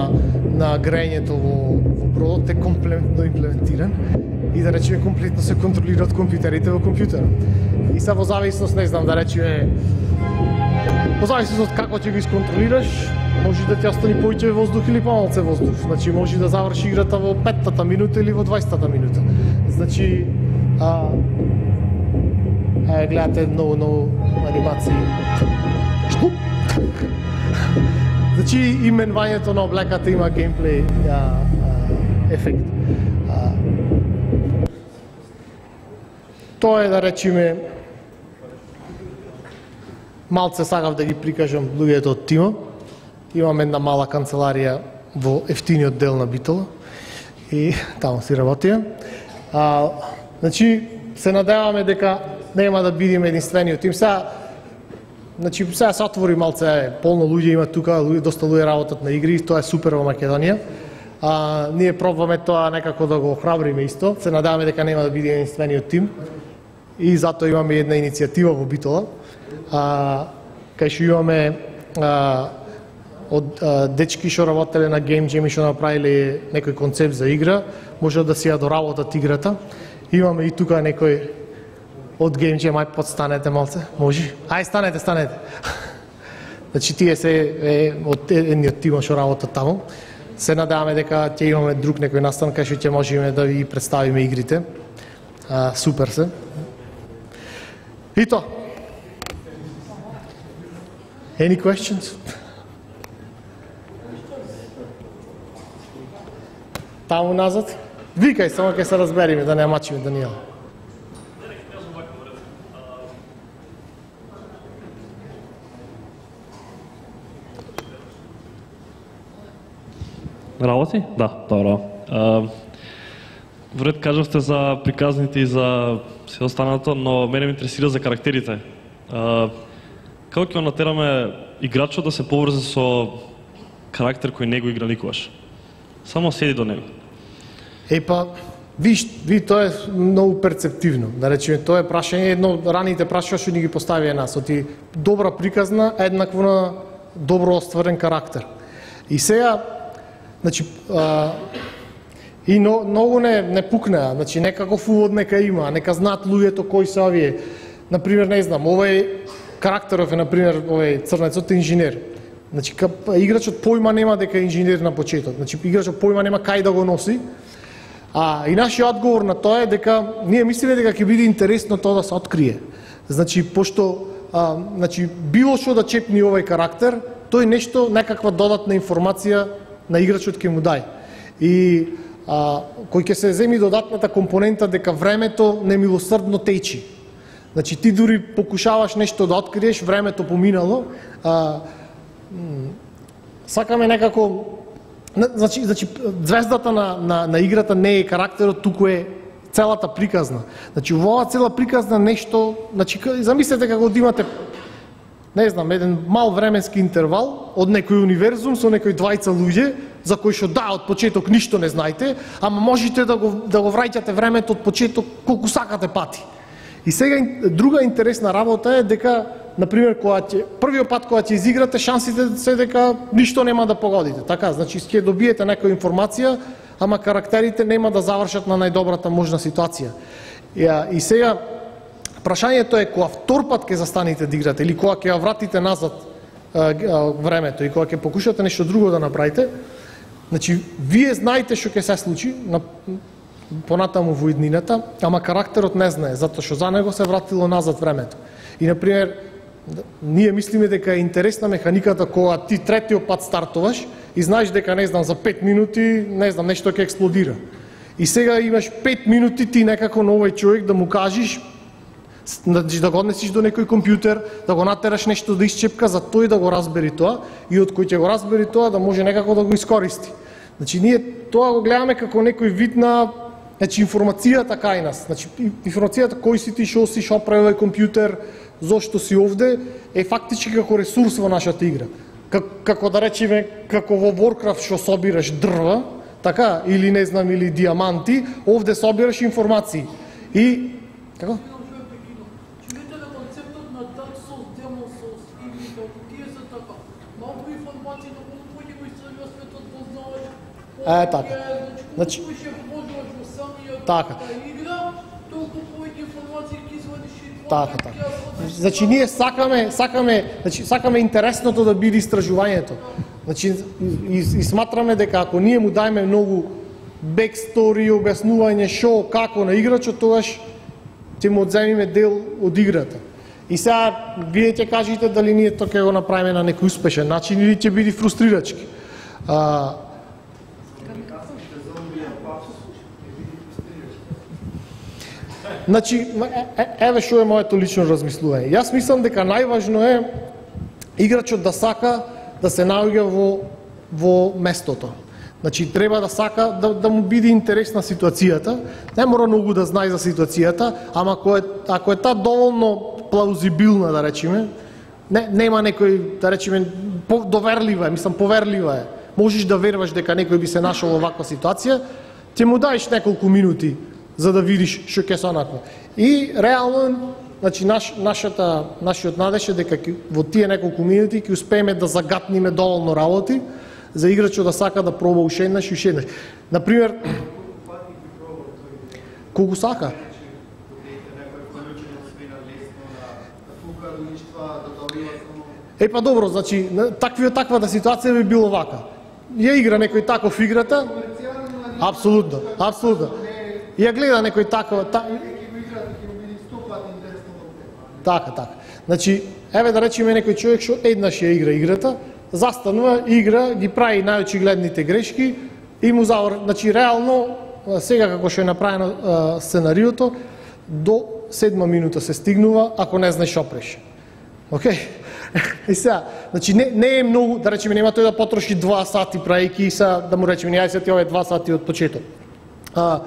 на грејењето во, во бродот е комплетно имплементиран и да речеме комплетно се контролира од компјутерите во компјутерот. И са во зависност, не знам, да речеме во зависност од како ќе го исконтролираш, може да ти остани повеќе воздух или помалце воздух. Значи може да заврши играта во петтата минута или во дваесеттата минута. Значи а е, гледате многу многу анимации. Значи именувањето на облеката има геймплей а, а, ефект. А, тоа е, да речеме, малце сакав да ги прикажам луѓето од тимот. Имам една мала канцеларија во ефтиниот дел на Битола и таму си работија. А, значи, се надеваме дека нема да бидеме единствениот тим. Сега, значи, сега се отвори малце, полно луѓе има тука, луѓе, доста луѓе работат на игри, тоа е супер во Македонија. А, ние пробваме тоа некако да го охрабриме исто. Се надеваме дека нема да бидеме единствениот тим. И затоа имаме една иницијатива во Битола, а, кај што имаме а, од а, дечки што работеле на Game Jam и што направиле некој концепт за игра, може да си ја доработат играта. Имаме и тука некој од Game Jam, ај подстанете малце, може? Ај станете, станете. Значи тие се е, од едниот тим што работат таму. Се надеваме дека ќе имаме друг некој настан кај што ќе можеме да ви представиме игрите. А, супер се. И тоа. Any questions? Таму назад? Викај, само ќе се разбериме, да не мачиме Данијел. Работи? Да, добро. Вред кажавте за приказните и за се останато, но мене ме интересира за карактерите. А, како ќе натераме играчот да се поврзе со карактер кој не го игра никогаш? Само седи до него. Епа, виж, ви тоа е многу перцептивно. Да речеме, тоа е прашање, едно од раните прашања што ни ги поставија нас, оти добра приказна еднакво на добро остварен карактер. И сега, значи, а, и но, многу не, не пукнеа, значи некаков увод нека има, нека знаат луѓето кои се овие. Например, не знам, овој карактеров е, например, овој црнецот е инженер. Значи, играчот појма нема дека е инженер на почеток. Значи, играчот појма нема кај да го носи. А и нашиот одговор на тоа е дека ние мислиме дека ќе биде интересно тоа да се открие. Значи, пошто а, значи, било што да чепни овој карактер, тој нешто, некаква додатна информација на играчот ќе му дај. И а, кој ќе се земи додатната компонента дека времето немилосрдно течи. Значи ти дури покушаваш нешто да откриеш, времето поминало, а, сакаме некако, значи, значи звездата на, на, на играта не е карактерот, туку е целата приказна. Значи во оваа цела приказна нешто, значи замислете како да имате, не знам, еден мал временски интервал од некој универзум со некои двајца луѓе за кои што да од почеток ништо не знаете, ама можете да го да го враќате времето од почеток колку сакате пати. И сега друга интересна работа е дека, например, кога ќе првиот пат кога ќе изиграте, шансите се дека ништо нема да погодите. Така, значи ќе добиете некоја информација, ама карактерите нема да завршат на најдобрата можна ситуација. И, и сега прашањето е кога втор пат ќе застанете да играте или кога ќе ја вратите назад а, а, времето и кога ќе покушате нешто друго да направите, значи вие знаете што ќе се случи на понатаму во иднината, ама карактерот не знае, затоа што за него се вратило назад времето. И, например, ние мислиме дека е интересна механиката кога ти третиот пат стартуваш и знаеш дека, не знам, за пет минути, не знам, нешто ќе експлодира. И сега имаш пет минути ти некако на овој човек да му кажеш, да го однесиш до некој компјутер, да го натераш нешто да исчепка, за тој да го разбери тоа и од кој ќе го разбери тоа да може некако да го искористи. Значи ние тоа го гледаме како некој вид на, значи, информацијата кај нас. Значи информацијата кој си ти, шо си, шо прави овој компјутер, зошто си овде, е фактички како ресурс во нашата игра. Как, како да речеме, како во Warcraft што собираш дрва, така, или не знам, или диаманти, овде собираш информации. И како? Чуете ли концептот на Dark Souls, Demon Souls, игрите, тие се така. Е, така. Значи, Значи, колку ќе вложуваш во самиот така. игра, толку повеќе информации ќе извадиш и тоа. Така, така. Значи ние сакаме, сакаме, значи сакаме интересното да биде истражувањето. Значи и, и сматраме дека ако ние му дајме многу бекстори, објаснување шо, како на играчот, тогаш ќе му одземиме дел од играта. И сега вие ќе кажете дали ние тоа ќе го направиме на некој успешен начин или ќе биде фрустрирачки. А, Значи, е, еве што е моето лично размислување. Јас мислам дека најважно е играчот да сака да се наоѓа во во местото. Значи треба да сака да, да му биде интересна ситуацијата. Не мора многу да знае за ситуацијата, ама ако е ако е таа доволно плаузибилна, да речеме, не нема некој, да речеме, доверлива е, мислам поверлива е. Можеш да веруваш дека некој би се нашол во ваква ситуација, ќе му даеш неколку минути за да видиш што ќе се онаква. И реално, значи наш, нашата нашиот надеж е дека во тие неколку минути ќе успееме да загатниме доволно работи за играчот да сака да проба уште еднаш и уште еднаш. Например, колку сака? Е, па добро, значи, таква таквата ситуација би било вака. Ја игра некој таков играта, апсолутно, апсолутно. Ја гледа некој такова, та... така, така. Значи, еве да речеме некој човек што еднаш ја игра играта, застанува, игра, ги прави најочигледните грешки и му завр... Значи, реално, сега како што е направено а, сценариото, до седма минута се стигнува, ако не знаеш опреш. Океј? Okay? И сега, значи не, не е многу, да речеме, нема тој да потроши два сати праејќи и сега да му речеме, не се ти овие два сати од почеток. А,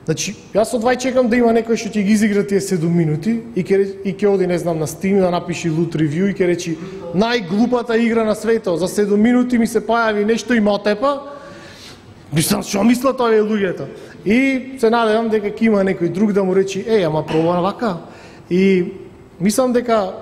значи, јас одвај чекам да има некој што ќе ги изигра тие седум минути и ќе и ќе оди, не знам, на Steam да напиши лут ревју и ќе речи најглупата игра на светот, за седум минути ми се појави нешто и ме отепа. Мислам, што мислат овие луѓето? И се надевам дека ќе има некој друг да му речи, еј, ама проба на вака. И мислам дека,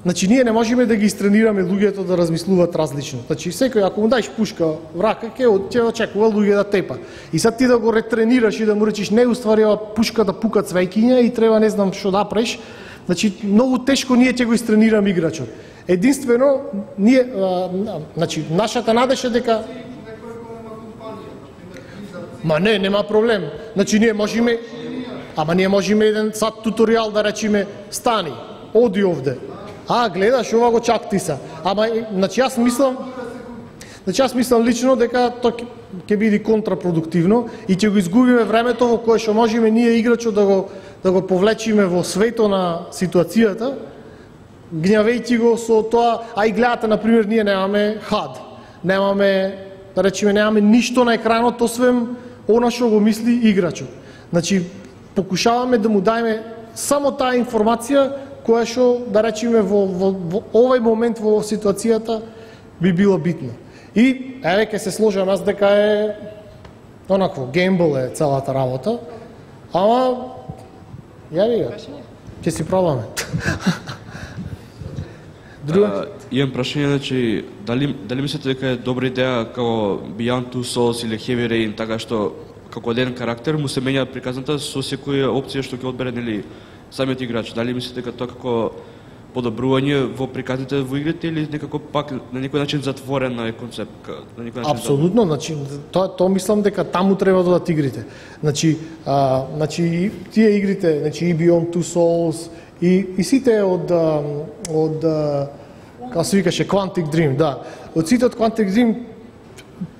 значи ние не можеме да ги истренираме луѓето да размислуваат различно. Значи секој ако му даеш пушка в рака, ќе ќе очекува луѓе да тепа. И сад ти да го ретренираш и да му речиш не уствари ова пушка да пука цвеќиња и треба не знам што да преш. Значи многу тешко ние ќе го истренираме играчот. Единствено ние а, значи нашата надеж е дека Ма не, нема проблем. Значи ние можеме Ама ние можеме еден сат туторијал да речеме стани, оди овде. А, гледаш, ова го чакти са. Ама, значи јас мислам, значи јас мислам лично дека тоа ќе биде контрапродуктивно и ќе го изгубиме времето во кое што можеме ние играчот да го да го повлечиме во свето на ситуацијата, гневејќи го со тоа, а и гледате, например, ние немаме хад, немаме, да речеме, немаме ништо на екранот, освен она што го мисли играчот. Значи, покушаваме да му дајме само таа информација која што, да речеме, во, во, во овој момент во ситуацијата би било битно. И, еве, ке се сложам аз дека е онакво, геймбол е целата работа, ама, јави го, ќе си пробаме. Друга? Имам прашање, значи, дали, дали мислите дека е добра идеја како Beyond Two Souls или Heavy Rain, така што како еден карактер му се менја приказната со секоја опција што ќе одбере, нели, самиот играч? Дали мислите дека тоа како подобрување во приказните во игрите или некако пак на некој начин затворен е концепт? На некој начин апсолутно, значи тоа тоа мислам дека таму треба да дадат игрите. Значи, а, значи тие игрите, значи и Beyond Two Souls и и сите од од како се викаше Quantic Dream, да. Од сите од Quantic Dream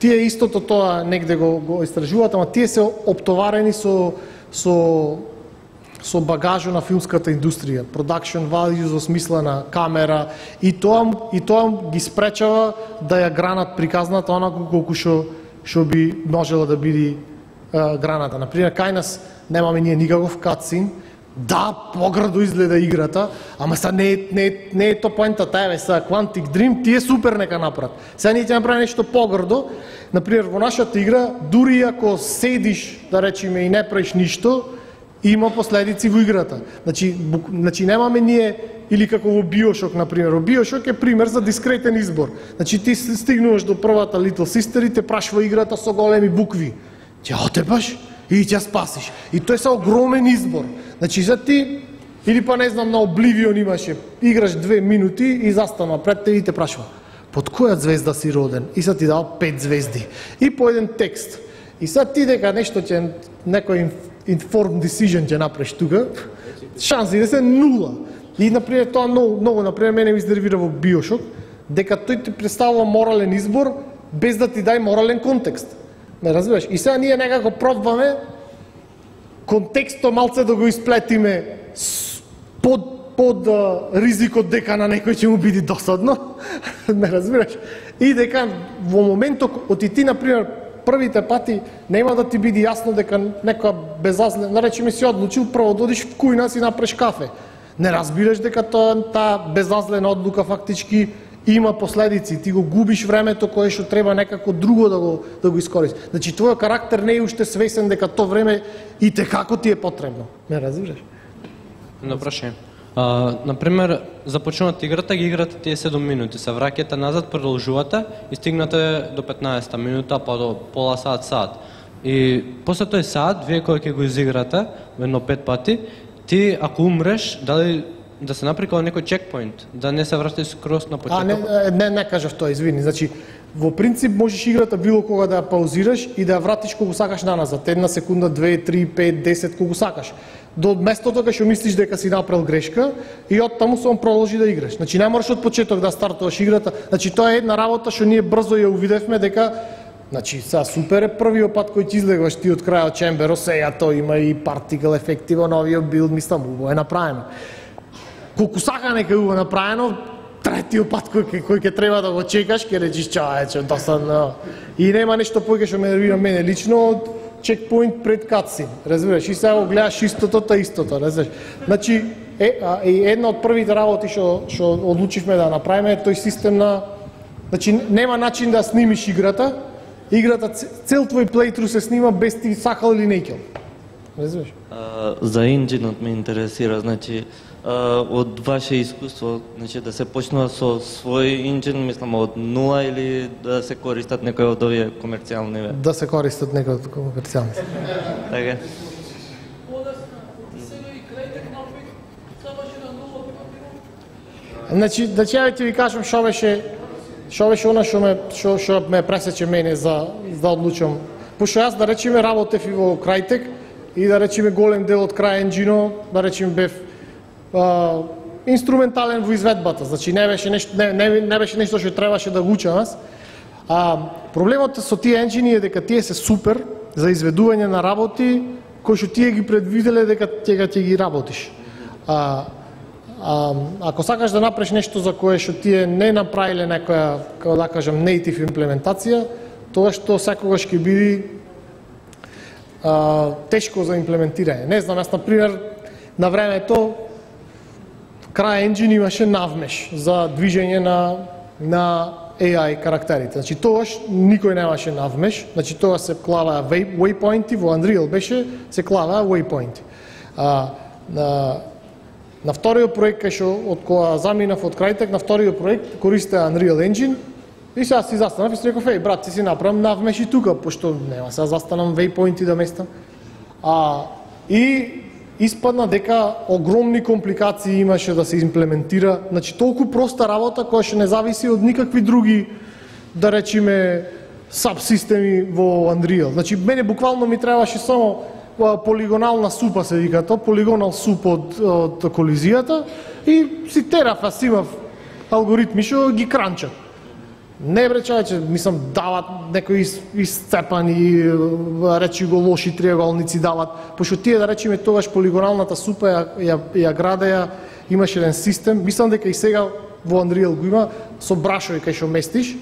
тие истото тоа негде го го истражуваат, ама тие се оптоварени со со со багажо на филмската индустрија, production values во смисла на камера и тоа и тоа ги спречава да ја гранат приказната онаку колку што што би можела да биде граната. Например, кај нас немаме ние никаков катсин. Да, поградо изгледа играта, ама са не не не е тоа поентата, еве са Quantic Dream, тие супер нека направат. Сега ние ќе направиме нешто поградо. Например, во нашата игра, дури ако седиш, да речеме, и не правиш ништо, има последици во играта. Значи, бу, значи немаме ние или како во Биошок, например. Во Биошок е пример за дискретен избор. Значи ти стигнуваш до првата Little Sister и те прашва играта со големи букви. Ќе отепаш и ќе спасиш. И тој е огромен избор. Значи за ти, или па не знам, на Обливион имаше, играш две минути и застана пред те и те прашва под која звезда си роден? И са ти дал пет звезди. И по еден текст. И сега ти дека нешто ќе, некој informed decision ќе направиш тука, шанси да се нула. И, например, тоа многу, многу например, мене ми изнервира во Биошок, дека тој ти представува морален избор, без да ти дај морален контекст. Не разбираш? И сега ние некако пробваме контекстот малце да го исплетиме под под uh, ризикот дека на некој ќе му биде досадно, не разбираш? И дека во моментот, оти ти, например, првите пати нема да ти биде јасно дека некоја безазлена, наречеме си одлучил прво да одиш в кујна си напреш кафе. Не разбираш дека тоа таа безазлена одлука фактички има последици, ти го губиш времето кое што треба некако друго да го да го искористиш. Значи твојот карактер не е уште свесен дека тоа време и те како ти е потребно. Не разбираш? На прашање. Uh, например, започнувате играта, ги играте тие седум минути, се враќате назад, продолжувате и стигнате до петнаесетта минута, па до пола саат, саат. И после тој саат, вие кој ќе го изиграте, едно пет пати, ти ако умреш, дали да се направи како некој чекпоинт, да не се вратиш скроз на почеток? А, не, не, не кажав тоа, извини. Значи, во принцип можеш играта било кога да ја паузираш и да ја вратиш кога сакаш наназад. Една секунда, две, три, пет, десет, кога сакаш. До местото кога што мислиш дека си направил грешка и од таму само продолжи да играш. Значи не мораш од почеток да стартуваш играта. Значи тоа е една работа што ние брзо ја увидевме дека значи са супер е првиот пат кој ти излегваш ти од крајот чемберо, сеја тоа има и партикл ефекти во новиот билд, мислам, убаво е направено. Колку сака нека е убаво направено, третиот пат кој кој ќе треба да го чекаш, ќе речиш чаече, досадно. И нема нешто повеќе што ме нервира мене лично од чекпоинт пред катсин, разбираш, и сега го гледаш истото, та истото, разбираш. Значи, е, а, е една од првите работи што што одлучивме да направиме е тој систем на, значи нема начин да снимиш играта, играта цел твој плейтру се снима без ти сакал или не кел. Разбираш? За инџинот ме интересира, значи од ваше искуство, значи да се почнува со свој инџин, мислам од нула или да се користат некои од овие комерцијални? Да се користат некои од комерцијални. Така. Значи, да ќе ти ви кажам што беше што беше она што ме што што ме пресече мене за да одлучам. Пошто јас да речеме работев и во Crytek и да речеме голем дел од CryEngine, да речеме бев Uh, инструментален во изведбата, значи не беше нешто не, не, не беше нешто што требаше да го учам аз. А проблемот со тие енџини е дека тие се супер за изведување на работи кои што тие ги предвиделе дека ќе ќе ги работиш. А, а ако сакаш да направиш нешто за кое што тие не направиле некоја, како да кажам, native имплементација, тоа што секогаш ќе биде а, тешко за имплементирање. Не знам, јас на пример на времето CryEngine имаше навмеш за движење на на Ей Ај карактерите. Значи тогаш никој немаше навмеш, значи тоа се клаваа waypointi, во Unreal беше се клаваа waypointi. А на на вториот проект кај што од кога заминав од Crytek, на вториот проект користеа Unreal Engine и сега си застанав и си реков, еј брат, ти си направам навмеш и тука, пошто нема сега застанам waypointi да местам. А и испадна дека огромни компликации имаше да се имплементира, значи толку проста работа која што не зависи од никакви други, да речеме, сабсистеми во Unreal. Значи мене буквално ми требаше само полигонална супа, се вика тоа, полигонал суп од, од колизијата и си тераф, аз имав алгоритми што ги кранчат. Не бре човече, мислам, дават некои исцепани, речи го лоши триаголници дават, пошто тие, да речеме, тогаш полигоналната супа ја, ја, ја градеја, имаше еден систем, мислам дека и сега во Unreal го има, со брашови кај што местиш,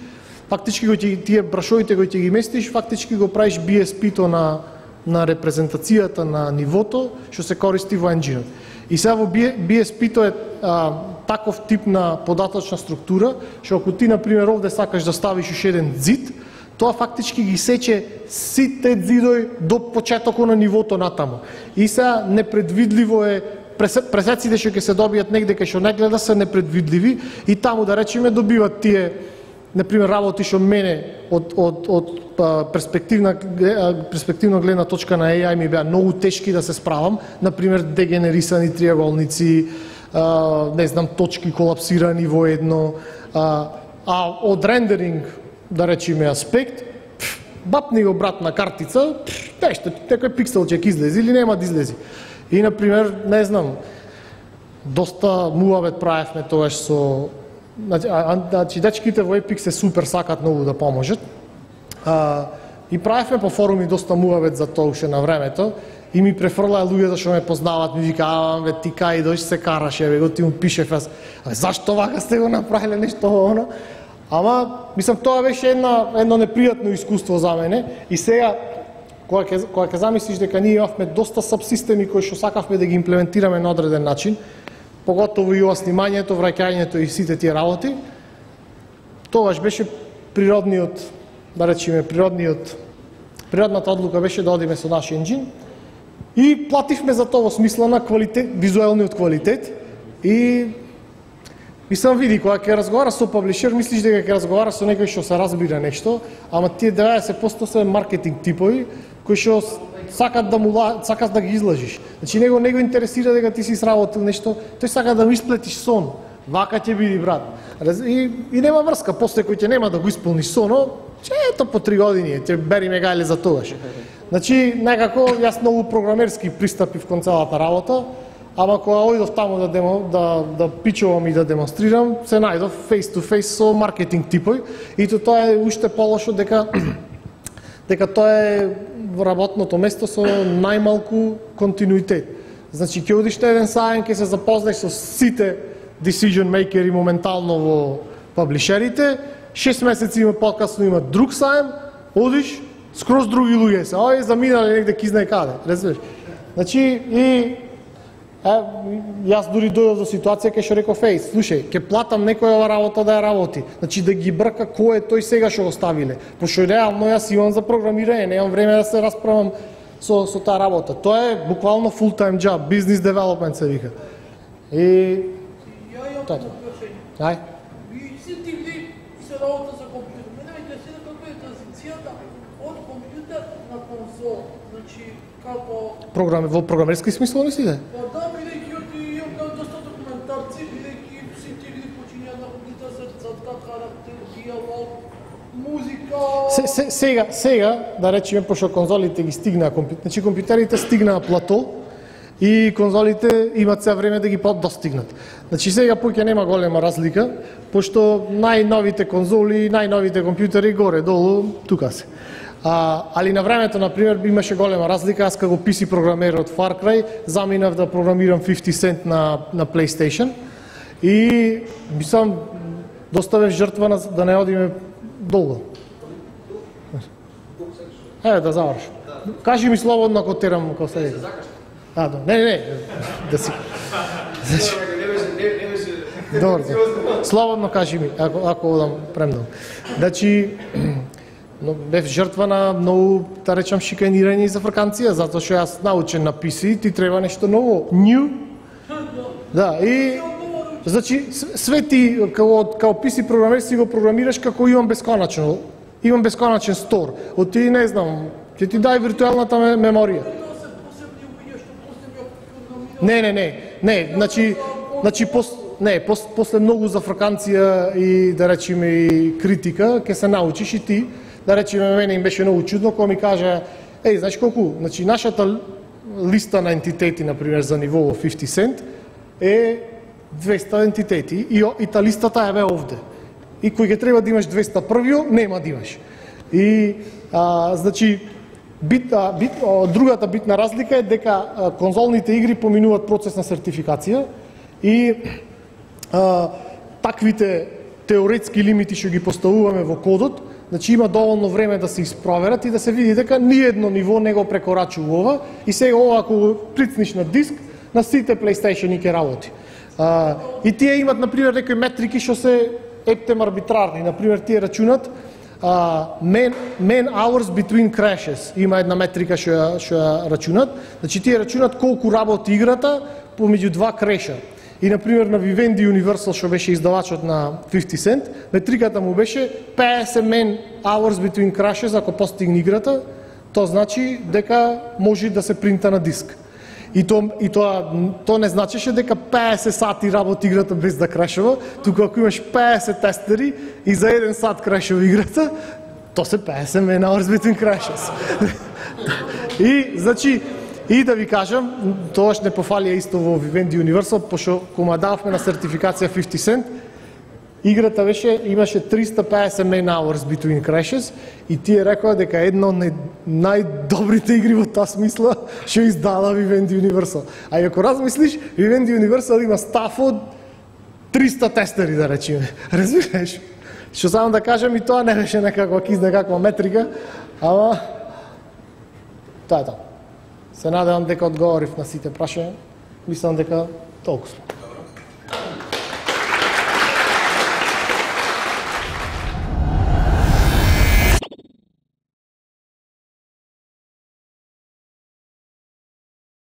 фактички го тие брашовите кои ќе ги местиш, фактички го правиш би ес пи-то на, на репрезентацијата на нивото, што се користи во енџинот. И сега во би ес пи-то е а, таков тип на податочна структура, што ако ти, например, овде сакаш да ставиш уште еден зид, тоа фактички ги сече сите зидови до почетокот на нивото натаму. И сега непредвидливо е пресеците што ќе се добијат негде кај што не гледа се непредвидливи и таму да речеме добиват тие например работи што мене од од од перспективна перспективна гледна точка на еј ај ми беа многу тешки да се справам, например дегенерисани триаголници, не знам точки колапсирани во едно, а од рендеринг да речеме аспект бапни го брат на картица, нешто, некој пиксел ќе излези или нема да излези. И например, не знам, доста муавет правевме тогаш со значи дечките во Epic се супер сакат многу да поможат. А, и правевме по форуми доста муавет за тоа уште на времето и ми префрлаа луѓето што ме познаваат, ми викаа, бе ти кај дош се караш, еве го ти му пишев аз. А зашто вака сте го направиле нешто оно? Ама, мислам, тоа беше една, едно непријатно искуство за мене и сега, кога ќе, кога ќе замислиш дека ние имавме доста сабсистеми кои што сакавме да ги имплементираме на одреден начин, поготово и ова снимањето, враќањето и сите тие работи, тогаш беше природниот, да речеме, природниот, природната одлука беше да одиме со наш енџин и плативме за тоа во смисла на квалитет, визуелниот квалитет и мислам, види, кога ќе разговара со паблишер, мислиш дека ќе разговара со некој што се разбира нешто, ама тие деветдесет проценти се маркетинг типови кои што сакат да му сакат да ги излажиш. Значи него не го интересира дека ти си сработил нешто, тој сака да му исплетиш сон. Вака ќе биде брат. И, и нема врска, после кој ќе нема да го исполниш соно, че ето по три години, ќе бери мегале за тогаш. Значи некако јас многу програмерски пристапив кон целата работа. Ама кога ојдов таму да, демо, да, да пичувам и да демонстрирам, се најдов face to face со маркетинг типови и то тоа е уште полошо дека дека тоа е работното место со најмалку континуитет. Значи ќе одиш на еден сајм, ќе се запознаеш со сите decision makeri моментално во паблишерите, шест месеци има покасно има друг сајм, одиш, скроз други луѓе се, ај заминале негде ки знае каде, разбираш? Значи и Е, јас дури дојдов до ситуација кај што реков, еј, слушај, ќе платам некоја работа да ја работи. Значи да ги брка кој е тој сега што го ставиле. Пошто реално јас имам за програмирање, немам време да се расправам со со таа работа. Тоа е буквално full time job, business development се вика. И ја имам прашање. Ај. Ви сите ви се работа за компјутер. Мене ме интересира како е транзицијата од компјутер на конзола. Значи како програми во програмерски смисол не си де? Па да, бидејќи од имам доста документарци, бидејќи сите игри почињаат на компјутер се црта, карактер, диалог, музика. Се, се, сега, сега, да речеме, пошто конзолите ги стигнаа компјутер, значи компјутерите стигнаа плато и конзолите имат се време да ги достигнат. Значи сега поќе нема голема разлика, пошто најновите конзоли, најновите компјутери горе долу тука се. А, али на времето, например, имаше голема разлика. Аз како пи си програмер од Far Cry заминав да програмирам фифти Cent на, на PlayStation и мислам, доста бев жртва на, да не одиме долго. Е, да завршам. Кажи ми слободно ако терам како се. А, да. Не, не, не. Да си. Добро. Слободно кажи ми, ако ако одам премногу. Значи но бев жртва на многу, да речам, шиканирање и зафрканција, затоа што јас научен на пи си, ти треба нешто ново, new. Да, и значи све ти како како пи си програмер си го програмираш како имам бесконачно, имам бесконачен стор. Од ти не знам, ќе ти дај виртуелната меморија. Не, не, не, не, значи, значи пос, не, пос, после многу зафрканција и да речеме и критика, ќе се научиш и ти. Да речеме, мене им беше многу чудно кога ми кажа, еј, знаеш колку, значи нашата листа на ентитети, например, за ниво во фифти Cent е двеста ентитети и, и та листата е бе овде. И кој ќе треба да имаш двеста првиот, нема да имаш. И, а, значи, бит, а, бит, а, другата битна разлика е дека а, конзолните игри поминуваат процес на сертификација и а, таквите теоретски лимити што ги поставуваме во кодот, значи има доволно време да се испроверат и да се види дека ниедно ниво не го прекорачува и сега ова ако го прицниш на диск, на сите PlayStation ќе работи. А, и тие имат, например, некои метрики што се ептем арбитрарни. Например, тие рачунат uh, man, man hours between crashes. Има една метрика што ја, што ја рачунат. Значи тие рачунат колку работи играта помеѓу два креша. И на пример на Vivendi Universal што беше издавачот на фифти Cent, метриката му беше петдесет man hours between crashes ако постигне играта, тоа значи дека може да се принта на диск. И тоа и тоа тоа не значеше дека петдесет сати работи играта без да крашува, туку ако имаш петдесет тестери и за еден сат крашува играта, тоа се петдесет man hours between crashes. И значи и да ви кажам, тоаш не пофалија исто во Vivendi Universal, пошто кога дававме на сертификација фифти Cent, играта беше имаше триста и петдесет man hours between crashes и тие рекоа дека една од најдобрите игри во таа смисла што издала Vivendi Universal. А и ако размислиш, Vivendi Universal има стаф од триста тестери, да речеме. Разбираш? Што само да кажам, и тоа не беше некаква киз, некаква метрика, ама тоа е тоа. Се надевам дека одговорив на сите прашања. Мислам дека толку сме.